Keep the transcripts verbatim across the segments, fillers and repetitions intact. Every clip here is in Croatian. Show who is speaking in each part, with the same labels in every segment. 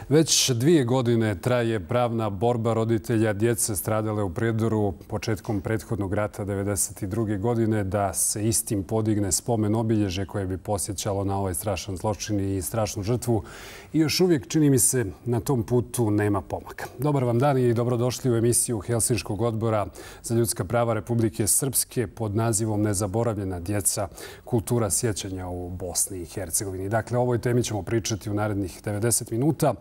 Speaker 1: Već dvije godine traje pravna borba roditelja djece stradale u Prijedoru početkom prethodnog rata devedeset druge. godine da se istim podigne spomen obilježje koje bi podsjećalo na ovaj strašan zločin i strašnu žrtvu. I još uvijek, čini mi se, na tom putu nema pomaka. Dobar vam dan i dobrodošli u emisiju Helsinškog odbora za ljudska prava Republike Srpske pod nazivom Nezaboravljena djeca, kultura sjećanja u Bosni i Hercegovini. Dakle, o ovoj temi ćemo pričati u narednih devedeset minuta.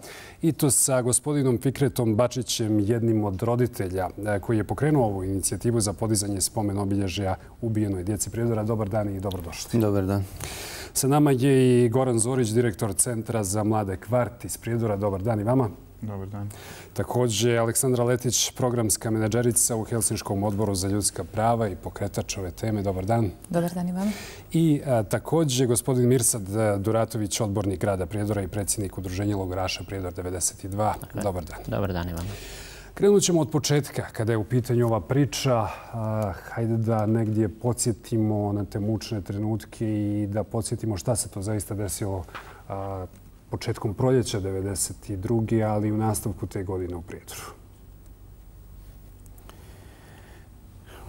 Speaker 1: I to sa gospodinom Fikretom Bačićem, jednim od roditelja koji je pokrenuo ovu inicijativu za podizanje spomen obilježja ubijenoj djeci Prijedora. Dobar dan i dobrodošli.
Speaker 2: Dobar dan.
Speaker 1: Sa nama je i Goran Zorić, direktor Centra za mlade Kvart iz Prijedora. Dobar dan i vama.
Speaker 3: Dobar dan.
Speaker 1: Također Aleksandra Letić, programska menadžerica u Helsinškom odboru za ljudska prava i pokretač ove teme. Dobar dan.
Speaker 4: Dobar dan i vama.
Speaker 1: I a, također gospodin Mirsad Duratović, odbornik grada Prijedora i predsjednik udruženja logoraša Prijedor devedeset dva.
Speaker 2: Dakle,
Speaker 1: dobar dan.
Speaker 2: Dobar dan i vama.
Speaker 1: Krenut ćemo od početka. Kada je u pitanju ova priča, a, hajde da negdje podsjetimo na te mučne trenutke i da podsjetimo šta se to zaista desilo a, početkom proljeća devedeset druge. ali i u nastavku te godine u Prijedoru.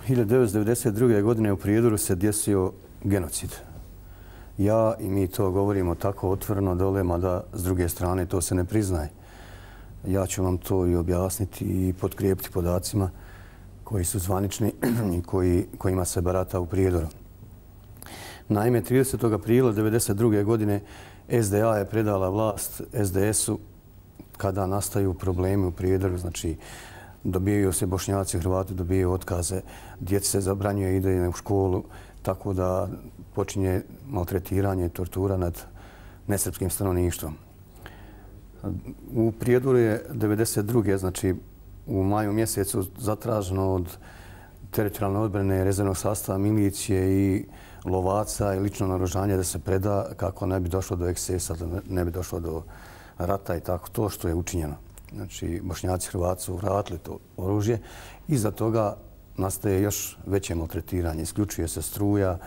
Speaker 2: hiljadu devetsto devedeset druge. godine u Prijedoru se desio genocid. Ja i mi to govorimo tako otvoreno dole, mada s druge strane to se ne priznaje. Ja ću vam to i objasniti i potkrijepiti podacima koji su zvanični i koji, kojima se barata u Prijedoru. Naime, tridesetog aprila devedeset druge. godine S D A je predala vlast S D S-u kada nastaju problemi u Prijedoru. Znači, dobijaju se Bošnjaci i Hrvati, dobijaju otkaze. Djeci se zabranjuje ide u školu, tako da počinje maltretiranje i tortura nad nesrpskim stanovništvom. U Prijedoru je devedeset druge. znači u maju mjesecu zatraženo od teritorijalne odbrane, rezervnog sastava, milicije i lovaca i lično naoružanje da se preda kako ne bi došlo do ekscesa, da ne bi došlo do rata i tako to što je učinjeno. Znači, Bošnjaci i Hrvati su vratili to oružje. Iza toga nastaje još veće maltretiranje. Isključuje se struja,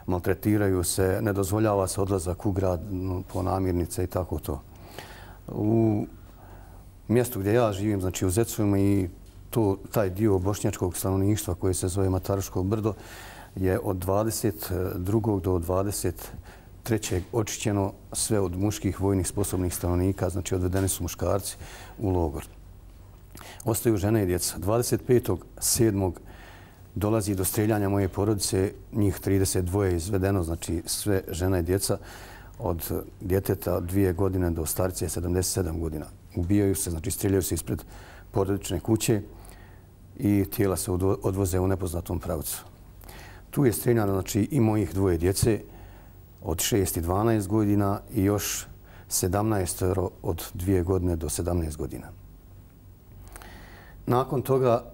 Speaker 2: maltretiraju se, ne dozvoljava se odlazak u grad po namirnice i tako to. U mjestu gdje ja živim, znači u Zecovima, i to, taj dio bošnjačkog stanovništva koji se zove Mataruško brdo je od dvadeset drugog do dvadeset trećeg očišćeno sve od muških vojnih sposobnih stanovnika, znači odvedeni su muškarci u logor. Ostaju žene i djeca. dvadeset petog sedmog dolazi do streljanja moje porodice, njih trideset dva je izvedeno, znači sve žena i djeca od djeteta dvije godine do starice sedamdeset sedam godina. Ubijaju se, znači streljaju se ispred porodične kuće i tijela se odvoze u nepoznatom pravcu. Tu je streljano, znači, i mojih dvoje djece od šest i dvanaest godina i još sedamnaest od dvije godine do sedamnaest godina. Nakon toga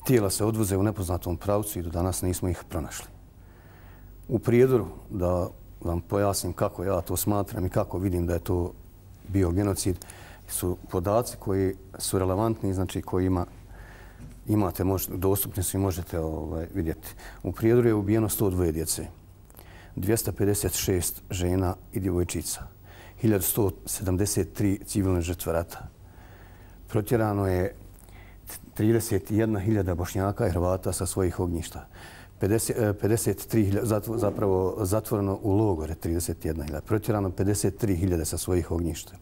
Speaker 2: tijela se odvoze u nepoznatom pravcu i do danas nismo ih pronašli. U Prijedoru, da vam pojasnim kako ja to smatram i kako vidim da je to bio genocid, su podaci koji su relevantni, znači koji ima imate, dostupni su i možete ovaj, vidjeti. U Prijedoru je ubijeno sto dva djece, dvjesto pedeset šest žena i djevojčica, hiljadu sto sedamdeset tri civilne žrtve rata. Protjerano je trideset jedna hiljada Bošnjaka i Hrvata sa svojih ognjišta. pedeset tri hiljade, zapravo zatvoreno u logore trideset jedna hiljada. Protjerano pedeset tri hiljade sa svojih ognjišta.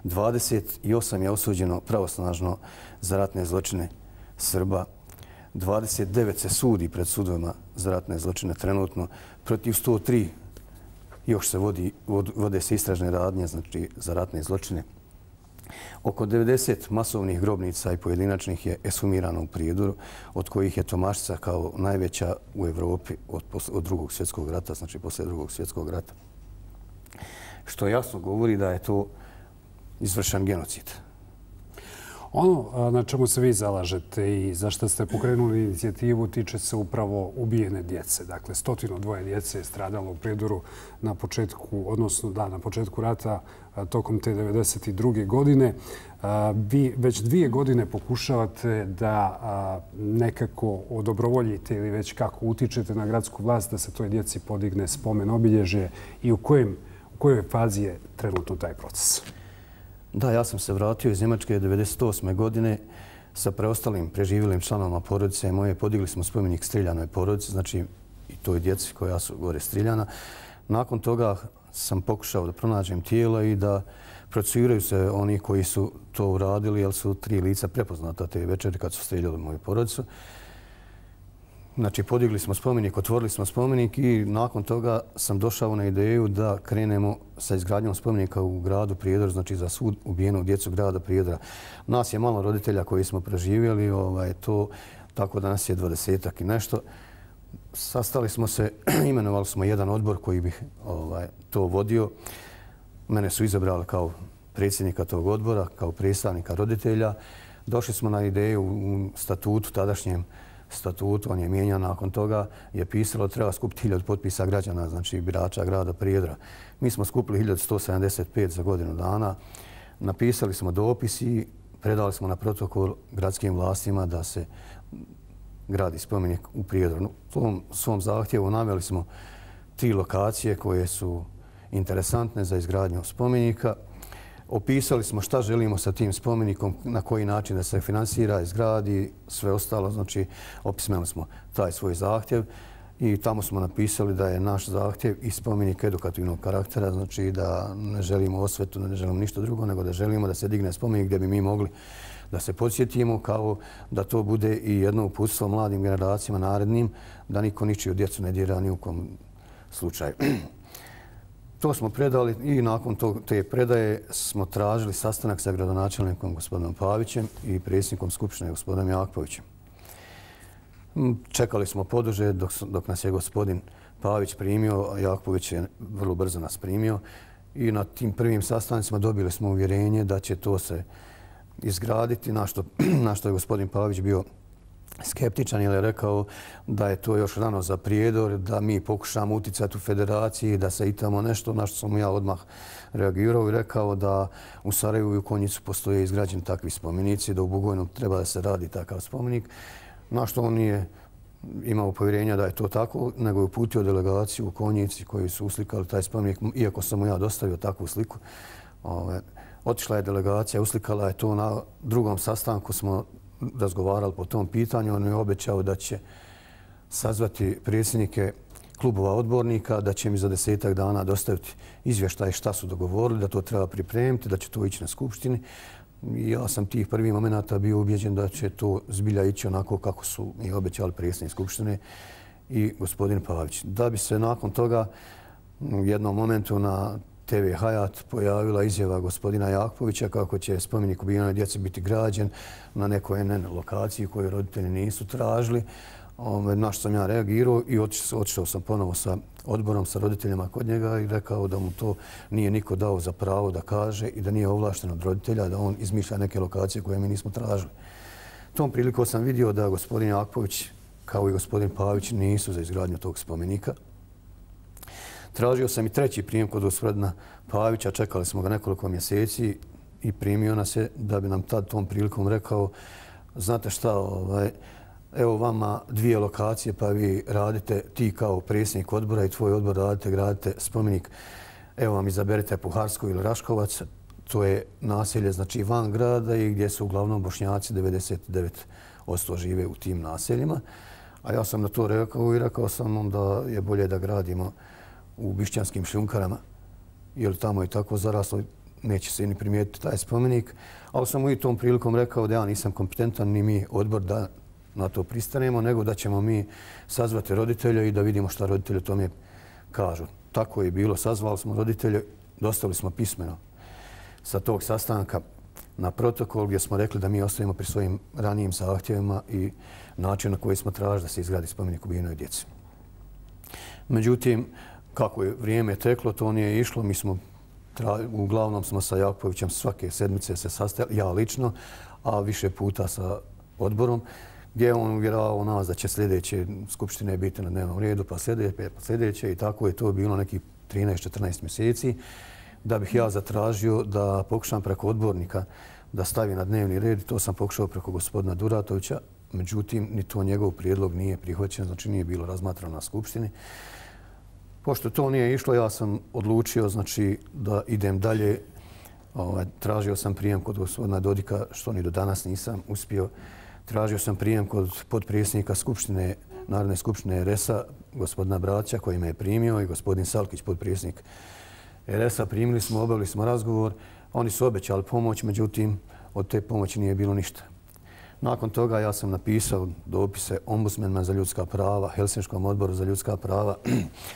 Speaker 2: dvadeset osam je osuđeno pravosnažno za ratne zločine Srba. dvadeset devet se sudi pred sudovima za ratne zločine trenutno. Protiv sto tri još se vodi, vode se istražne radnje, znači za ratne zločine. Oko devedeset masovnih grobnica i pojedinačnih je ekshumirano u Prijedoru, od kojih je Tomaštica kao najveća u Evropi od, od drugog svjetskog rata, znači poslije drugog svjetskog rata. Što jasno govori da je to izvršen genocid.
Speaker 1: Ono na čemu se vi zalažete i za što ste pokrenuli inicijativu tiče se upravo ubijene djece. Dakle, stotinu dvoje djece je stradalo u Prijedoru na početku, odnosno da, na početku rata tokom te devedeset druge. godine. Vi već dvije godine pokušavate da nekako odobrovoljite ili već kako utičete na gradsku vlast da se toj djeci podigne spomen obilježje i u kojem, u kojoj fazi je trenutno taj proces?
Speaker 2: Da, ja sam se vratio iz Njemačke devedeset osme godine sa preostalim preživjelim članovima porodice moje. Podigli smo spomenik Striljanoj porodici, znači i toj djeci koja su gore striljana. Nakon toga sam pokušao da pronađem tijela i da procesuiraju se oni koji su to uradili, jer su tri lica prepoznata te večeri kad su striljali moju porodicu. Znači, podigli smo spomenik, otvorili smo spomenik i nakon toga sam došao na ideju da krenemo sa izgradnjom spomenika u gradu Prijedor, znači za svu ubijenu djecu grada Prijedora. Nas je malo roditelja koji smo preživjeli, ovaj, to, tako da nas je dvadesetak i nešto. Sastali smo se, imenovali smo jedan odbor koji bi ovaj, to vodio. Mene su izabrali kao predsjednika tog odbora, kao predstavnika roditelja. Došli smo na ideju u statutu, tadašnjem statutu, on je mijenjan nakon toga, je pisalo da treba skupiti hiljadu potpisa građana, znači birača grada Prijedora. Mi smo skupili hiljadu sto sedamdeset pet za godinu dana. Napisali smo dopis i predali smo na protokol gradskim vlastima da se gradi spomenik u Prijedoru. U tom svom zahtjevu naveli smo tri lokacije koje su interesantne za izgradnju spomenika. Opisali smo šta želimo sa tim spomenikom, na koji način da se finansira, izgradi, sve ostalo. Znači, opismeli smo taj svoj zahtjev i tamo smo napisali da je naš zahtjev i spomenik edukativnog karaktera, znači da ne želimo osvetu, ne želimo ništa drugo, nego da želimo da se digne spomenik gdje bi mi mogli da se podsjetimo, kao da to bude i jedno uputstvo mladim generacijama narednim, da niko ničiju djecu ne dira ni u kom slučaju. To smo predali i nakon te predaje smo tražili sastanak sa gradonačelnikom gospodinom Pavićem i predsjednikom Skupštine gospodinom Jakpovićem. Čekali smo poduže dok, dok nas je gospodin Pavić primio, a Jakpović je vrlo brzo nas primio i na tim prvim sastancima dobili smo uvjerenje da će to se izgraditi, na što, na što je gospodin Pavić bio skeptičan jer je rekao da je to još rano za Prijedor, da mi pokušamo uticati u federaciji, da se i tamo nešto, na što sam ja odmah reagirao i rekao da u Sarajevu i u Konjicu postoje izgrađeni takvi spomenici, da u Bugojnu treba da se radi takav spomenik, na što on nije imao povjerenja da je to tako, nego je uputio delegaciju u Konjici koji su uslikali taj spomenik, iako sam mu ja dostavio takvu sliku. Ove, otišla je delegacija, uslikala je to na drugom sastanku, smo razgovarali po tom pitanju. On je obećao da će sazvati predsjednike klubova odbornika, da će mi za desetak dana dostaviti izvještaj šta su dogovorili, da to treba pripremiti, da će to ići na skupštini. Ja sam tih prvih momenata bio ubjeđen da će to zbilja ići onako kako su i obećali predsjednik skupštine i gospodin Pavić. Da bi se nakon toga u jednom momentu na te ve Hayat pojavila izjava gospodina Jakpovića kako će spomenik ubijenoj djeci biti građen na nekoj en en lokaciji koju roditelji nisu tražili. Na što sam ja reagirao i otišao sam ponovo sa odborom, sa roditeljima kod njega i rekao da mu to nije niko dao za pravo da kaže i da nije ovlašten od roditelja, da on izmišlja neke lokacije koje mi nismo tražili. Tom prilikom sam vidio da gospodin Jakpović kao i gospodin Pavić nisu za izgradnju tog spomenika. Tražio sam i treći prijem kod gospodina Pavića, čekali smo ga nekoliko mjeseci i primio nas je da bi nam tad tom prilikom rekao znate šta, ovaj, evo vama dvije lokacije pa vi radite, ti kao predsjednik odbora i tvoj odbor radite, gradite spomenik. Evo vam izaberite Puharsku ili Raškovac, to je naselje znači van grada i gdje su uglavnom Bošnjaci, devedeset devet posto žive u tim naseljima. A ja sam na to rekao i rekao sam da je bolje da gradimo u Bišćanskim šljunkarama, jer tamo je tako zaraslo, neće se ni primijetiti taj spomenik. Ali sam mu i tom prilikom rekao da ja nisam kompetentan ni mi odbor da na to pristanemo, nego da ćemo mi sazvati roditelje i da vidimo šta roditelji o tome kažu. Tako je bilo, sazvali smo roditelje, dostavili smo pismeno sa tog sastanka na protokol gdje smo rekli da mi ostavimo pri svojim ranijim zahtjevima i način na koji smo tražili da se izgradi spomenik ubijenoj djeci. Međutim, kako je vrijeme teklo, to nije išlo. Mi smo, uglavnom smo sa Jakpovićem svake sedmice se sastajali, ja lično, a više puta sa odborom, gdje je on uvjeravao nas da će sljedeće skupštine biti na dnevnom redu, pa sljedeće, pa sljedeće i tako je to bilo nekih trinaest četrnaest mjeseci. Da bih ja zatražio da pokušam preko odbornika da stavi na dnevni red, to sam pokušao preko gospodina Duratovića, međutim, ni to njegov prijedlog nije prihvaćen, znači nije bilo razmatrano na skupštini. Pošto to nije išlo, ja sam odlučio znači, da idem dalje Tražio sam prijem kod gospodina Dodika, što ni do danas nisam uspio. Tražio sam prijem kod potpredsjednika Skupštine, Narodne skupštine R S A, gospodina Braća, koji me je primio, i gospodin Salkić, potpredsjednik R S A. Primili smo, obavili smo razgovor. Oni su obećali pomoć, međutim, od te pomoći nije bilo ništa. Nakon toga ja sam napisao dopise ombudsmanima za ljudska prava, Helsinškom odboru za ljudska prava,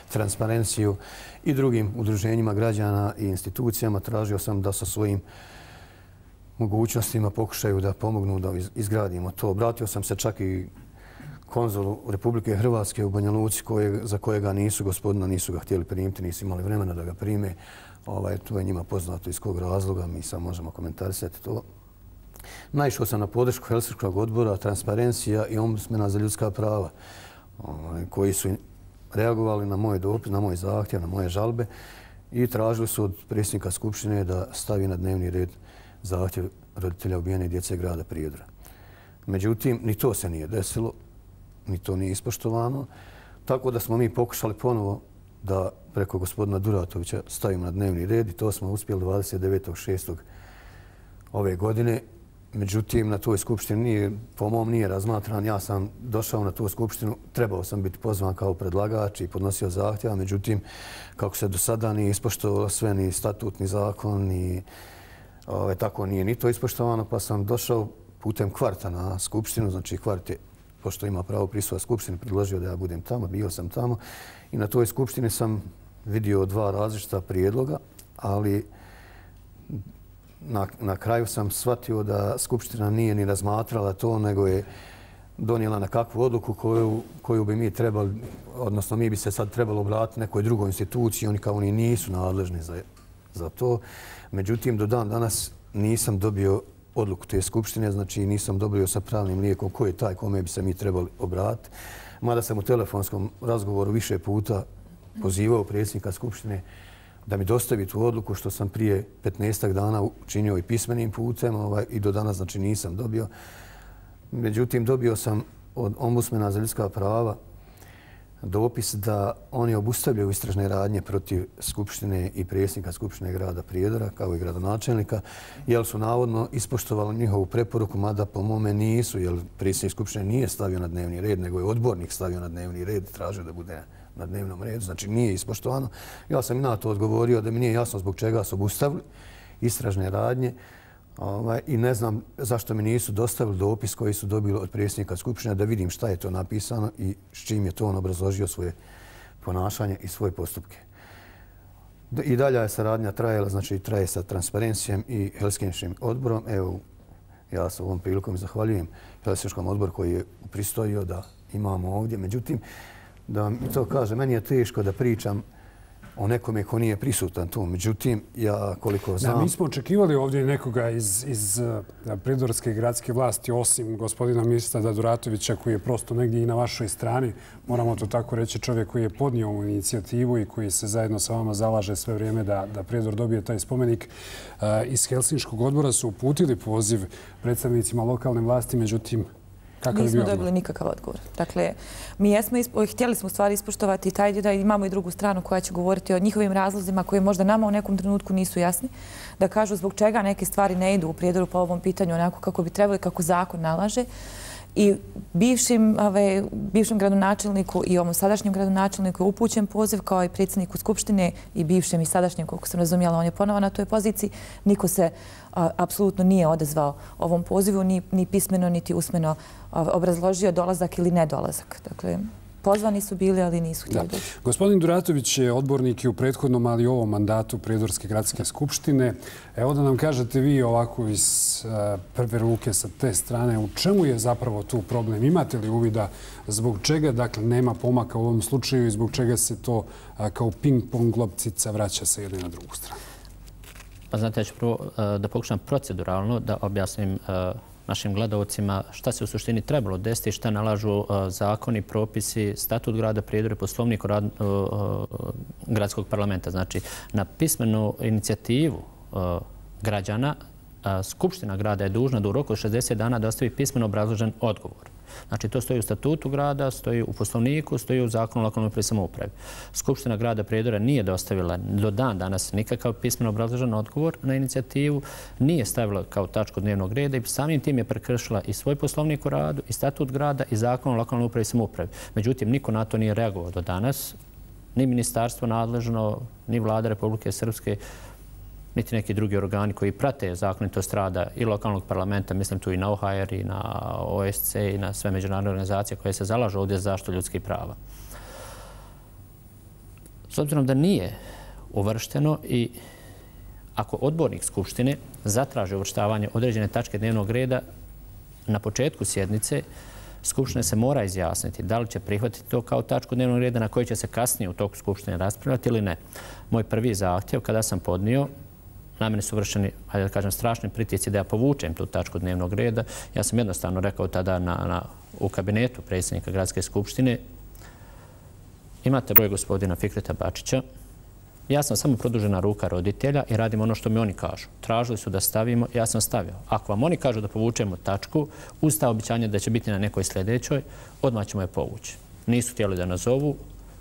Speaker 2: Transparenciju i drugim udruženjima građana i institucijama. Tražio sam da sa svojim mogućnostima pokušaju da pomognu da izgradimo to. Obratio sam se čak i konzulu Republike Hrvatske u Banja Luci, za kojega nisu gospodina, nisu ga htjeli primiti, nisu imali vremena da ga prime. To je njima poznato iz kog razloga, mi sad možemo komentarisati to. Naišao sam na podršku Helsinškog odbora, Transparencija i ombudsmana za ljudska prava, koji su reagovali na moj dopis, na moj zahtjev, na moje žalbe i tražili su od predsjednika Skupštine da stavi na dnevni red zahtjev roditelja ubijene djece grada Prijedora. Međutim, ni to se nije desilo, ni to nije ispoštovano, tako da smo mi pokušali ponovo da preko gospodina Duratovića stavimo na dnevni red i to smo uspjeli dvadeset devetog šestog ove godine. Međutim, na toj skupštini po mom nije razmatran. Ja sam došao na tu skupštinu, trebao sam biti pozvan kao predlagač i podnosio zahtjeva. Međutim, kako se do sada nije ispoštovalo sve, ni statut, ni zakon, ni tako nije ni to ispoštovano, pa sam došao putem kvarta na skupštinu. Znači, kvart je, pošto ima pravo prisustva skupštine, predložio da ja budem tamo, bio sam tamo i na toj skupštini sam vidio dva različita prijedloga, ali Na, na kraju sam shvatio da Skupština nije ni razmatrala to, nego je donijela na kakvu odluku koju, koju bi mi trebali, odnosno mi bi se sad trebalo obratiti nekoj drugoj instituciji, oni kao oni nisu nadležni za, za to. Međutim, do dan danas nisam dobio odluku te Skupštine, znači nisam dobio sa pravnim lijekom ko je taj kome bi se mi trebali obratiti. Mada sam u telefonskom razgovoru više puta pozivao predsjednika Skupštine da mi dostavi tu odluku, što sam prije petnaestak dana učinio i pismenim putem i do danas znači nisam dobio. Međutim, dobio sam od ombudsmana za ljudska prava dopis da oni obustavljaju istražne radnje protiv Skupštine i predsjednika Skupštine grada Prijedora, kao i gradonačelnika, jer su navodno ispoštovali njihovu preporuku, mada po mome nisu, jer predsjednik Skupštine nije stavio na dnevni red, nego je odbornik stavio na dnevni red i tražio da bude na dnevnom redu, znači nije ispoštovano. Ja sam i na to odgovorio da mi nije jasno zbog čega su obustavili istražne radnje i ne znam zašto mi nisu dostavili dopis koji su dobili od predsjednika Skupštine da vidim šta je to napisano i s čim je to on obrazložio svoje ponašanje i svoje postupke. I dalje je saradnja trajala, znači traje sa Transparencijom i Helsinškim odborom. Evo, ja se ovom prilikom zahvaljujem Helsinškom odboru koji je pristojio da imamo ovdje. Međutim, da mi to kaže, meni je teško da pričam o nekome ko nije prisutan tu. Međutim, ja koliko znam...
Speaker 1: Da, mi smo očekivali ovdje nekoga iz, iz Prijedorske gradske vlasti, osim gospodina ministra Duratovića, koji je prosto negdje i na vašoj strani. Moramo to tako reći, čovjek koji je podnio ovu inicijativu i koji se zajedno sa vama zalaže sve vrijeme da, da Prijedor dobije taj spomenik. Iz Helsinškog odbora su uputili poziv predstavnicima lokalne vlasti, međutim,
Speaker 3: nismo dobili nikakav odgovor. Dakle, mi jesmo, htjeli smo stvari ispoštovati taj da imamo i drugu stranu koja će govoriti o njihovim razlozima koji možda nama u nekom trenutku nisu jasni, da kažu zbog čega neke stvari ne idu u Prijedoru po ovom pitanju onako kako bi trebali, kako zakon nalaže. I bivšim, ove, bivšem gradonačelniku i ovom sadašnjem gradonačelniku je upućen poziv kao i predsjedniku Skupštine i bivšem i sadašnjem, koliko sam razumjela, on je ponovo na toj poziciji. Niko se a, apsolutno nije odazvao ovom pozivu, ni, ni pismeno, niti usmeno a, obrazložio dolazak ili nedolazak. Dakle, pozvani su bili, ali nisu htjeli doći.
Speaker 1: Gospodin Duratović je odbornik i u prethodnom, ali i ovom mandatu Prijedorske gradske skupštine. Evo da nam kažete vi ovako iz prve ruke sa te strane, u čemu je zapravo tu problem? Imate li uvida zbog čega dakle, nema pomaka u ovom slučaju i zbog čega se to kao ping-pong loptica vraća sa jedne na drugu stranu?
Speaker 4: Pa znate, ja ću prvo da pokušam proceduralno da objasnim našim gledalcima šta se u suštini trebalo desiti, šta nalažu zakoni, propisi, statut grada Prijedora i poslovnik gradskog parlamenta. Znači, na pismenu inicijativu građana Skupština grada je dužna da u roku od šezdeset dana dostavi pismeno obrazložen odgovor. Znači, to stoji u statutu grada, stoji u poslovniku, stoji u zakonu o lokalnoj upravi i samoupravi. Skupština grada Prijedora nije dostavila do dan danas nikakav pismeno obrazložen odgovor na inicijativu, nije stavila kao tačku dnevnog reda i samim tim je prekršila i svoj poslovnik u radu, i statut grada, i zakon o lokalnoj upravi i samoupravi. Međutim, niko na to nije reagovao do danas, ni ministarstvo nadležno, ni vlada Republike Srpske, niti neki drugi organi koji prate zakonitost rada i lokalnog parlamenta, mislim tu i na O H R, i na O S C, i na sve međunarodne organizacije koje se zalažu ovdje za zaštitu ljudskih prava. S obzirom da nije uvršteno i ako odbornik Skupštine zatraži uvrštavanje određene tačke dnevnog reda na početku sjednice, Skupština se mora izjasniti da li će prihvatiti to kao tačku dnevnog reda na koji će se kasnije u toku Skupštine raspravljati ili ne. Moj prvi zahtjev kada sam podnio, na mene su vršeni, hajde da kažem, strašni pritisci da ja povučem tu tačku dnevnog reda. Ja sam jednostavno rekao tada na, na, u kabinetu predsjednika Gradske skupštine, imate broj gospodina Fikreta Bačića, ja sam samo produžena ruka roditelja i radim ono što mi oni kažu. Tražili su da stavimo, ja sam stavio. Ako vam oni kažu da povučemo tačku, uz ta običanje da će biti na nekoj sljedećoj, odmah ćemo je povući. Nisu htjeli da nazovu,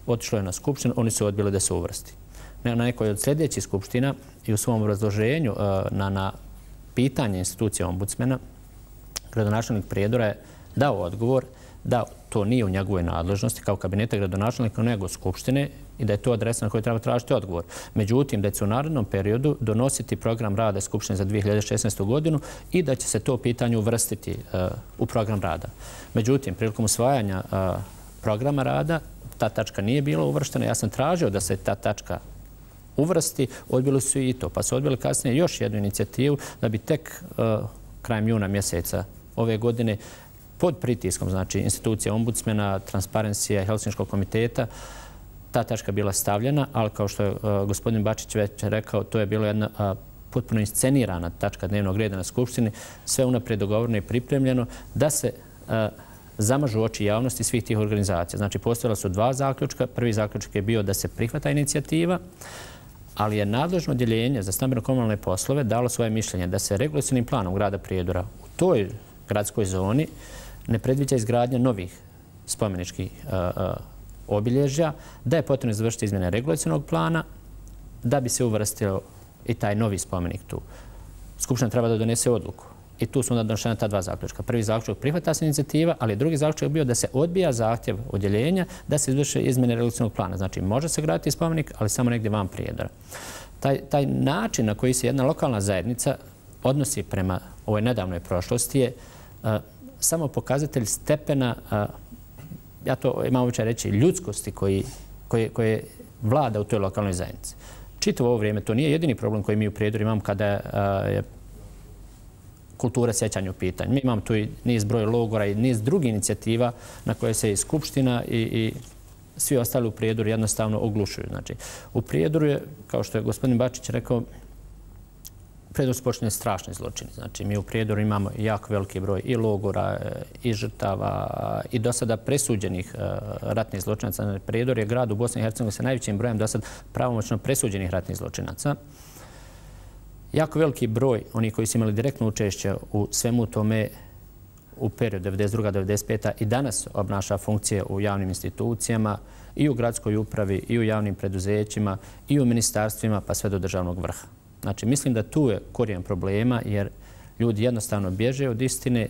Speaker 4: otišlo je na skupštinu, oni su odbili da se uvrsti. Na nekoj od sljedećih skupština i u svom obrazloženju na, na pitanje institucije ombudsmena, gradonačelnik Prijedora je dao odgovor da to nije u njegovoj nadležnosti kao kabineta gradonačelnika nego skupštine i da je to adresa na kojoj treba tražiti odgovor. Međutim, da će se u narednom periodu donositi program rada Skupštine za dvije hiljade šesnaestu. godinu i da će se to pitanje uvrstiti uh, u program rada. Međutim, prilikom usvajanja uh, programa rada ta tačka nije bila uvrštena. Ja sam tražio da se ta tačka uvrsti, odbili su i to. Pa su odbili kasnije još jednu inicijativu da bi tek uh, krajem juna mjeseca ove godine pod pritiskom, znači institucija ombudsmena, Transparencija i Helsinškog komiteta, ta tačka bila stavljena, ali kao što je uh, gospodin Bačić već rekao, to je bilo jedna uh, potpuno inscenirana tačka dnevnog reda na Skupštini, sve unaprijed dogovoreno i pripremljeno, da se uh, zamažu oči javnosti svih tih organizacija. Znači, postojala su dva zaključka. Prvi zaključak je bio da se prihvata inicijativa, ali je nadležno odjeljenje za stambeno-komunalne poslove dalo svoje mišljenje da se regulacionim planom grada Prijedora u toj gradskoj zoni ne predviđa izgradnja novih spomeničkih uh, uh, obilježja, da je potrebno izvršiti izmjene regulacionog plana, da bi se uvrstio i taj novi spomenik tu. Skupština treba da donese odluku. I tu su onda donošena ta dva zaključka. Prvi zaključak prihvata se inicijativa, ali drugi zaključak bio da se odbija zahtjev odjeljenja da se izvrše izmjene regulacionog plana. Znači, može se graditi spomenik, ali samo negdje van Prijedora. Taj, taj način na koji se jedna lokalna zajednica odnosi prema ovoj nedavnoj prošlosti je uh, samo pokazatelj stepena, uh, ja to imam običaj reći, ljudskosti koji, koje, koje vlada u toj lokalnoj zajednici. Čitavo ovo vrijeme, to nije jedini problem koji mi u Prijedoru imamo kada uh, je kultura sjećanja u pitanju. Mi imamo tu i niz broj logora i niz drugih inicijativa na koje se i Skupština i, i svi ostali u Prijedoru jednostavno oglušuju. Znači, u Prijedoru je, kao što je gospodin Bačić rekao, u Prijedoru su počinjeni strašni zločini. Znači, mi u Prijedoru imamo jako veliki broj i logora, i žrtava, i do sada presuđenih ratnih zločinaca. Prijedor je grad u Bosni i Hercegovini sa najvećim brojem do sada pravomoćno presuđenih ratnih zločinaca. Jako veliki broj onih koji su imali direktno učešće u svemu tome u periodu devedeset druga do devedeset peta i danas obnaša funkcije u javnim institucijama, i u gradskoj upravi, i u javnim preduzećima, i u ministarstvima, pa sve do državnog vrha. Znači, mislim da tu je korijen problema, jer ljudi jednostavno bježe od istine,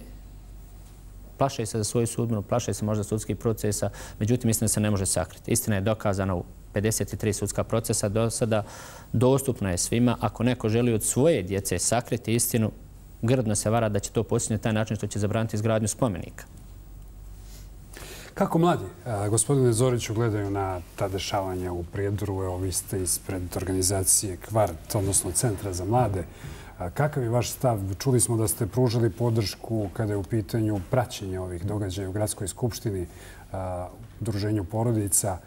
Speaker 4: plaše se za svoju sudbinu, plaše se možda sudskih procesa, međutim, istina se ne može sakriti. Istina je dokazana u pedeset tri sudska procesa do sada, dostupna je svima. Ako neko želi od svoje djece sakriti istinu, grdno se vara da će to postići na taj način što će zabraniti izgradnju spomenika.
Speaker 1: Kako mladi, gospodine Zoriću, gledaju na ta dešavanja u Prijedoru? Evo, vi ste ispred organizacije Kvart, odnosno Centra za mlade. Kakav je vaš stav? Čuli smo da ste pružili podršku kada je u pitanju praćenja ovih događaja u Gradskoj skupštini, Udruženju porodica.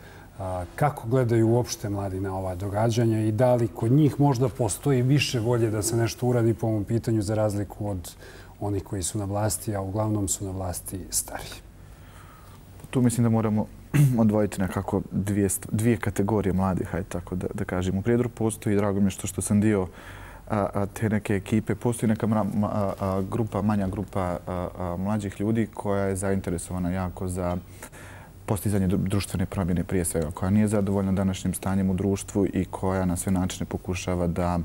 Speaker 1: Kako gledaju uopšte mladi na ova događanja i da li kod njih možda postoji više volje da se nešto uradi po ovom pitanju za razliku od onih koji su na vlasti, a uglavnom su na vlasti stariji?
Speaker 5: Tu mislim da moramo odvojiti nekako dvije, dvije kategorije mladih, hajde tako da, da kažem. U Prijedoru postoji, drago mi je što, što sam dio te neke ekipe. Postoji neka grupa, manja grupa mlađih ljudi koja je zainteresovana jako za postizanje društvene promjene prije svega, koja nije zadovoljna današnjim stanjem u društvu i koja na sve načine pokušava da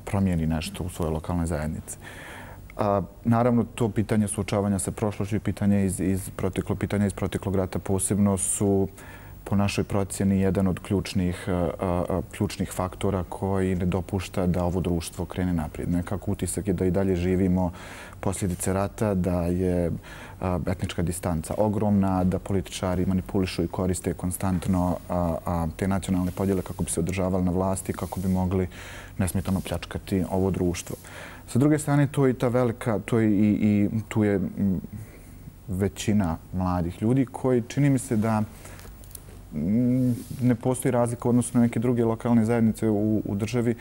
Speaker 5: promijeni nešto u svojoj lokalnoj zajednici. Naravno, to pitanje suočavanja sa prošlošću i pitanje iz proteklog pitanja iz proteklog rata posebno su po našoj procjeni jedan od ključnih faktora koji ne dopušta da ovo društvo krene naprijed. Nekako utisak je da i dalje živimo posljedice rata, da je etnička distanca ogromna, da političari manipulišu i koriste konstantno te nacionalne podjele kako bi se održavali na vlasti, kako bi mogli nesmetano pljačkati ovo društvo. Sa druge strane, to je i ta velika, to je i tu je većina mladih ljudi koji čini mi se da ne postoji razlika u odnosu na neke druge lokalne zajednice u, u državi,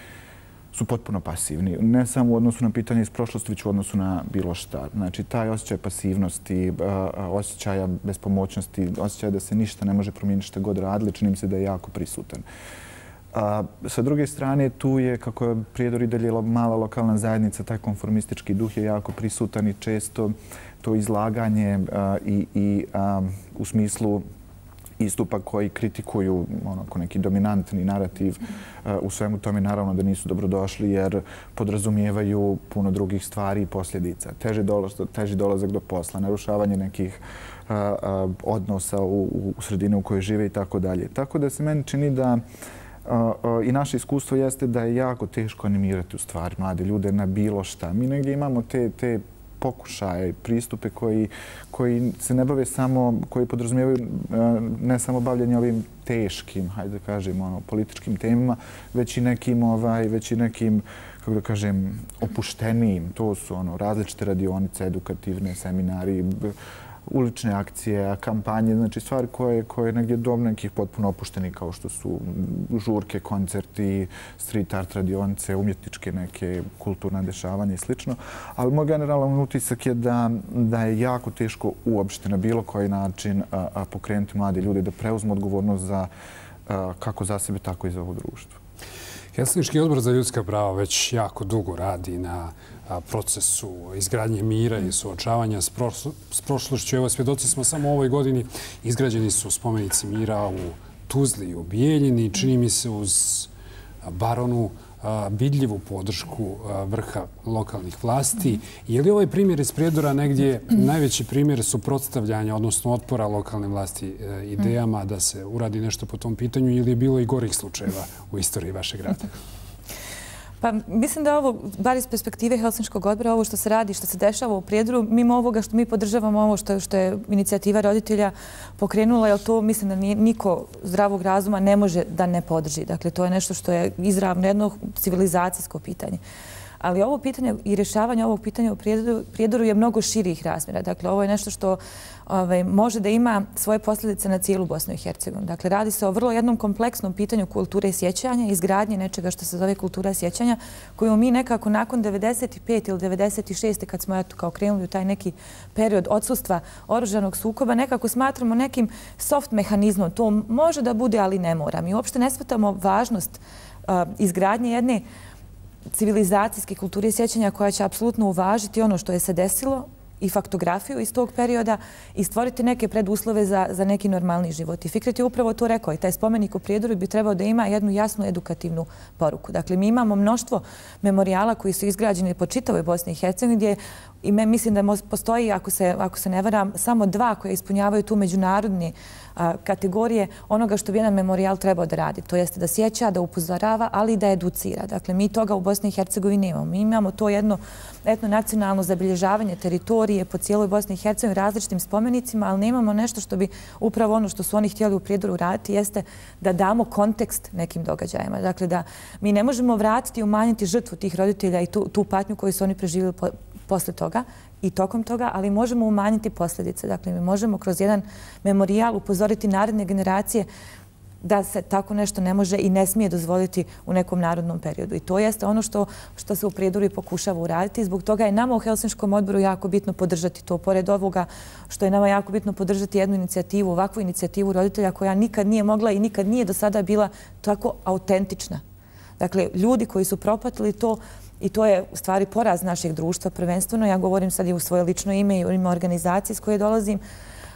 Speaker 5: su potpuno pasivni. Ne samo u odnosu na pitanje iz prošlosti, već u odnosu na bilo šta. Znači, taj osjećaj pasivnosti, osjećaja bespomoćnosti, osjećaj da se ništa ne može promijeniti šta god radili, čini mi se da je jako prisutan. A, sa druge strane, tu je, kako je Prijedor i dalje mala lokalna zajednica, taj konformistički duh je jako prisutan i često to izlaganje a, i, i a, u smislu istupa koji kritikuju onako neki dominantni narativ u svemu tome, naravno da nisu dobrodošli jer podrazumijevaju puno drugih stvari i posljedica. Teži dolazak, teži dolazak do posla, narušavanje nekih a, a, odnosa u, u sredini u kojoj žive i tako dalje. Tako da se meni čini da a, a, i naše iskustvo jeste da je jako teško animirati u stvari mlade ljude na bilo šta. Mi negdje imamo te, te pokušaje, pristupe koji, koji se ne bave samo, koji podrazumijevaju ne samo bavljanje ovim teškim, hajde da kažem, ono, političkim temama, već i nekim, ovaj, već i nekim, kako da kažem, opuštenijim. To su ono, različite radionice, edukativne, seminari, ulične akcije, kampanje, znači stvari koje, koje negdje do nekih potpuno opušteni kao što su žurke, koncerti, street art radionice, umjetničke neke kulturna dešavanja i slično. Ali moj generalan utisak je da, da je jako teško uopšte na bilo koji način a, a pokrenuti mlade ljude da preuzmu odgovornost za a, kako za sebe, tako i za ovo društvo.
Speaker 1: Helsinški odbor za ljudska prava već jako dugo radi na procesu izgradnje mira i suočavanja s prošlošću. Evo, svjedoci smo samo u ovoj godini. Izgrađeni su spomenici mira u Tuzli i u Bijeljini. Čini mi se uz Baronu vidljivu podršku vrha lokalnih vlasti. Je li ovaj primjer iz Prijedora negdje najveći primjer suprotstavljanja, odnosno otpora lokalne vlasti idejama da se uradi nešto po tom pitanju ili je bilo i gorih slučajeva u istoriji vašeg grada?
Speaker 3: Pa mislim da ovo, bar iz perspektive Helsinškog odbora, ovo što se radi, što se dešava u Prijedoru, mimo ovoga što mi podržavamo, ovo što, što je inicijativa roditelja pokrenula, jer to mislim da niko zdravog razuma ne može da ne podrži. Dakle, to je nešto što je izravno jedno civilizacijsko pitanje. Ali ovo pitanje i rješavanje ovog pitanja u Prijedoru je mnogo širih razmjera. Dakle, ovo je nešto što ovaj, može da ima svoje posljedice na cijelu Bosnu i Hercegovinu. Dakle, radi se o vrlo jednom kompleksnom pitanju kulture i sjećanja, izgradnje nečega što se zove kultura sjećanja, koju mi nekako nakon devedeset pete ili devedeset šeste kad smo eto, kao krenuli u taj neki period odsustva oružanog sukoba, nekako smatramo nekim soft mehanizmom. To može da bude, ali ne mora. Mi uopšte ne shvatamo važnost uh, izgradnje jedne civilizacijske kulture sjećanja koja će apsolutno uvažiti ono što je se desilo i faktografiju iz tog perioda i stvoriti neke preduslove za, za neki normalni život. I Fikret je upravo to rekao i taj spomenik u Prijedoru bi trebao da ima jednu jasnu edukativnu poruku. Dakle, mi imamo mnoštvo memorijala koji su izgrađeni po čitavoj Bosni i Hercegovini gdje i me, mislim da postoji, ako se, ako se ne varam, samo dva koje ispunjavaju tu međunarodni a, kategorije onoga što bi jedan memorijal trebao da radi. To jeste da sjeća, da upozorava, ali i da educira. Dakle, mi toga u Bosni i Hercegovini nemamo. Mi imamo to jedno etnonacionalno zabilježavanje teritorije po cijeloj Bosni i Hercegovini različitim spomenicima, ali nemamo nešto što bi upravo ono što su oni htjeli u Prijedoru raditi jeste da damo kontekst nekim događajima. Dakle, da mi ne možemo vratiti i umanjiti žrtvu tih roditelja i tu, tu patnju koju su oni preživjeli po, posle toga i tokom toga, ali možemo umanjiti posljedice. Dakle, mi možemo kroz jedan memorijal upozoriti naredne generacije da se tako nešto ne može i ne smije dozvoliti u nekom narodnom periodu. I to jeste ono što, što se u Prijedoru i pokušava uraditi. Zbog toga je nama u Helsinškom odboru jako bitno podržati to. Pored ovoga što je nama jako bitno podržati jednu inicijativu, ovakvu inicijativu roditelja koja nikad nije mogla i nikad nije do sada bila tako autentična. Dakle, ljudi koji su propatili to i to je u stvari poraz našeg društva prvenstveno. Ja govorim sad i u svoje lično ime i u ime organizacije s koje dolazim.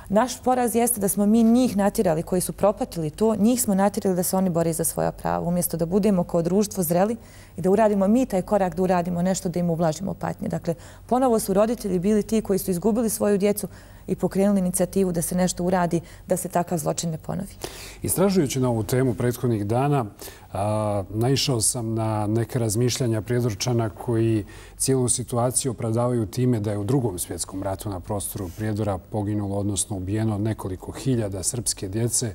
Speaker 3: Naš poraz jeste da smo mi njih natjerali koji su propatili to, njih smo natjerali da se oni bore za svoja prava. Umjesto da budemo kao društvo zreli i da uradimo mi taj korak, da uradimo nešto da im ublažimo patnje. Dakle, ponovo su roditelji bili ti koji su izgubili svoju djecu i pokrenuli inicijativu da se nešto uradi, da se takav zločin ne ponovi.
Speaker 1: Istražujući na ovu temu prethodnih dana, a, naišao sam na neke razmišljanja Prijedorčana koji cijelu situaciju opravdavaju time da je u Drugom svjetskom ratu na prostoru Prijedora poginulo, odnosno ubijeno nekoliko hiljada srpske djece,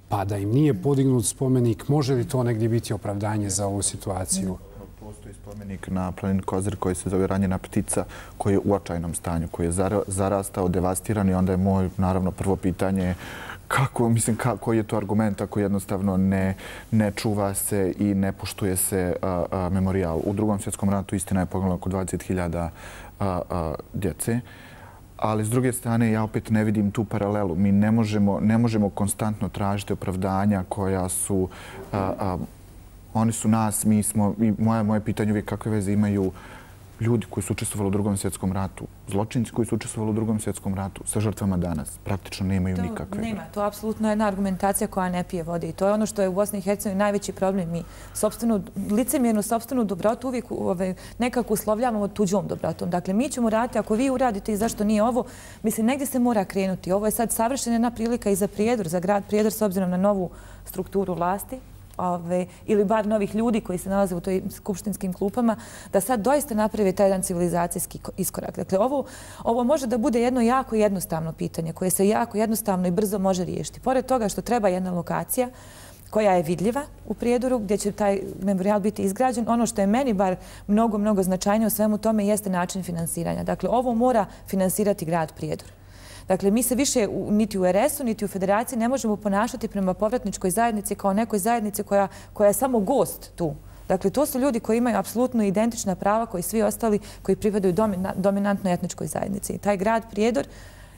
Speaker 1: pa da im nije podignut spomenik. Može li to negdje biti opravdanje za ovu situaciju?
Speaker 5: Postoji spomenik na planini Kozar koji se zove Ranjena ptica, koji je u očajnom stanju, koji je zarastao, devastiran i onda je moj, naravno, prvo pitanje kako, mislim, koji je to argument ako jednostavno ne, ne čuva se i ne poštuje se a, a, memorijal. U Drugom svjetskom ratu istina je poginulo oko dvadeset hiljada djece. Ali s druge strane, ja opet ne vidim tu paralelu. Mi ne možemo, ne možemo konstantno tražiti opravdanja koja su... A, a, Oni su nas, mi smo, i moje, moje pitanje uvijek kakve veze imaju ljudi koji su učestvovali u Drugom svjetskom ratu, zločinci koji su učestvovali u Drugom svjetskom ratu sa žrtvama danas. Praktično nemaju
Speaker 3: to
Speaker 5: nikakve.
Speaker 3: Nema, to je apsolutno jedna argumentacija koja ne pije vode i to je ono što je u Bosni i Hercegovini najveći problem. Mi sopstvenu, licemjernu sopstvenu dobrotu uvijek ove, nekako uslovljavamo tuđom dobrotom. Dakle, mi ćemo raditi, ako vi uradite i zašto nije ovo, mislim, negdje se mora krenuti. Ovo je sad savršena jedna prilika i za Prijedor, za grad Prijedor s obzirom na novu strukturu vlasti. Ove, ili bar novih ljudi koji se nalaze u toj skupštinskim klupama, da sad doista napravi taj jedan civilizacijski iskorak. Dakle, ovo, ovo može da bude jedno jako jednostavno pitanje koje se jako jednostavno i brzo može riješiti. Pored toga što treba jedna lokacija koja je vidljiva u Prijedoru, gdje će taj memorijal biti izgrađen. Ono što je meni bar mnogo, mnogo značajnije u svemu tome jeste način finansiranja. Dakle, ovo mora finansirati grad Prijedor. Dakle, mi se više niti u er es u, niti u Federaciji ne možemo ponašati prema povratničkoj zajednici kao nekoj zajednici koja, koja je samo gost tu. Dakle, to su ljudi koji imaju apsolutno identična prava koji svi ostali koji pripadaju dominantnoj etničkoj zajednici. I taj grad Prijedor,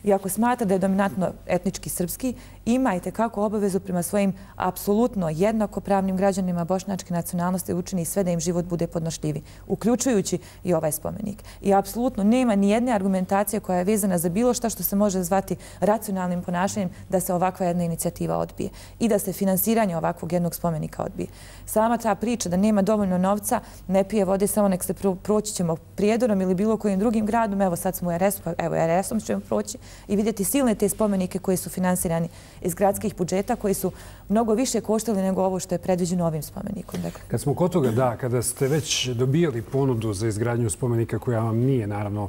Speaker 3: iako smatra da je dominantno etnički srpski, ima i tekako obavezu prema svojim apsolutno jednakopravnim građanima bošnjačke nacionalnosti učini sve da im život bude podnošljivi, uključujući i ovaj spomenik. I apsolutno nema ni jedne argumentacije koja je vezana za bilo šta što se može zvati racionalnim ponašanjem da se ovakva jedna inicijativa odbije i da se finansiranje ovakvog jednog spomenika odbije. Sama ta priča da nema dovoljno novca, ne pije vode, samo nek se proći ćemo Prijedorom ili bilo kojim drugim gradom, evo sad smo u er es u, pa evo er esom ćemo proći i vidjeti silne te spomenike koji su finansirani iz gradskih budžeta, koji su mnogo više koštali nego ovo što je predviđeno ovim spomenikom. Dakle.
Speaker 1: Kad smo kod toga, da, kada ste već dobijali ponudu za izgradnju spomenika koja vam nije, naravno,